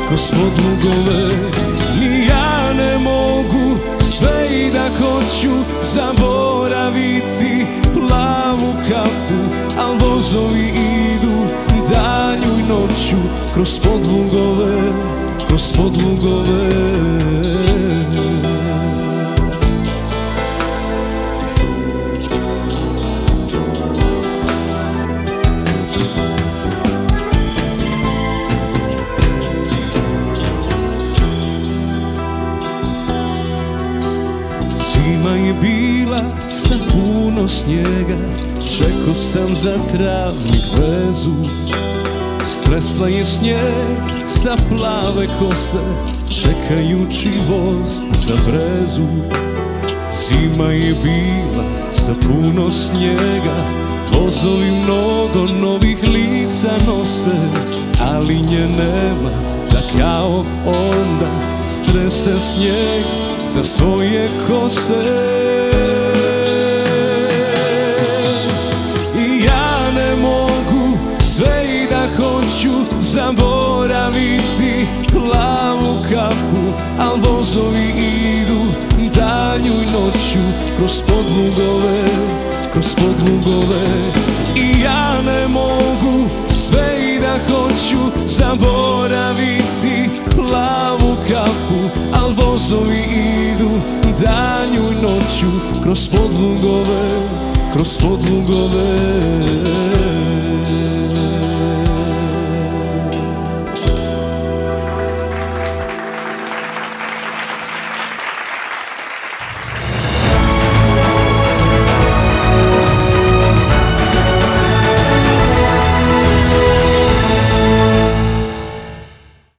kroz podlugove. Ni ja ne mogu sve i da hoću zaboraviti plavu kapu, al vozovi idu danju i noću kroz podlugove, kroz podlugove. Zima je bila sa puno snijega, čekao sam za travnik vezu. Tresla je snijeg sa plave kose, čekajući voz za brezu. Zima je bila sa puno snijega, vozovi mnogo novih lica nose, ali nje nema da kao onda strese snijeg za svoje kose. I ja ne mogu sve i da hoću zaboraviti plavu kapu, al vozovi idu danju i noću kroz podlugove. I ja ne mogu sve i da hoću zaboraviti plavu kapu, al vozovi idu danju i noću kroz podlugove.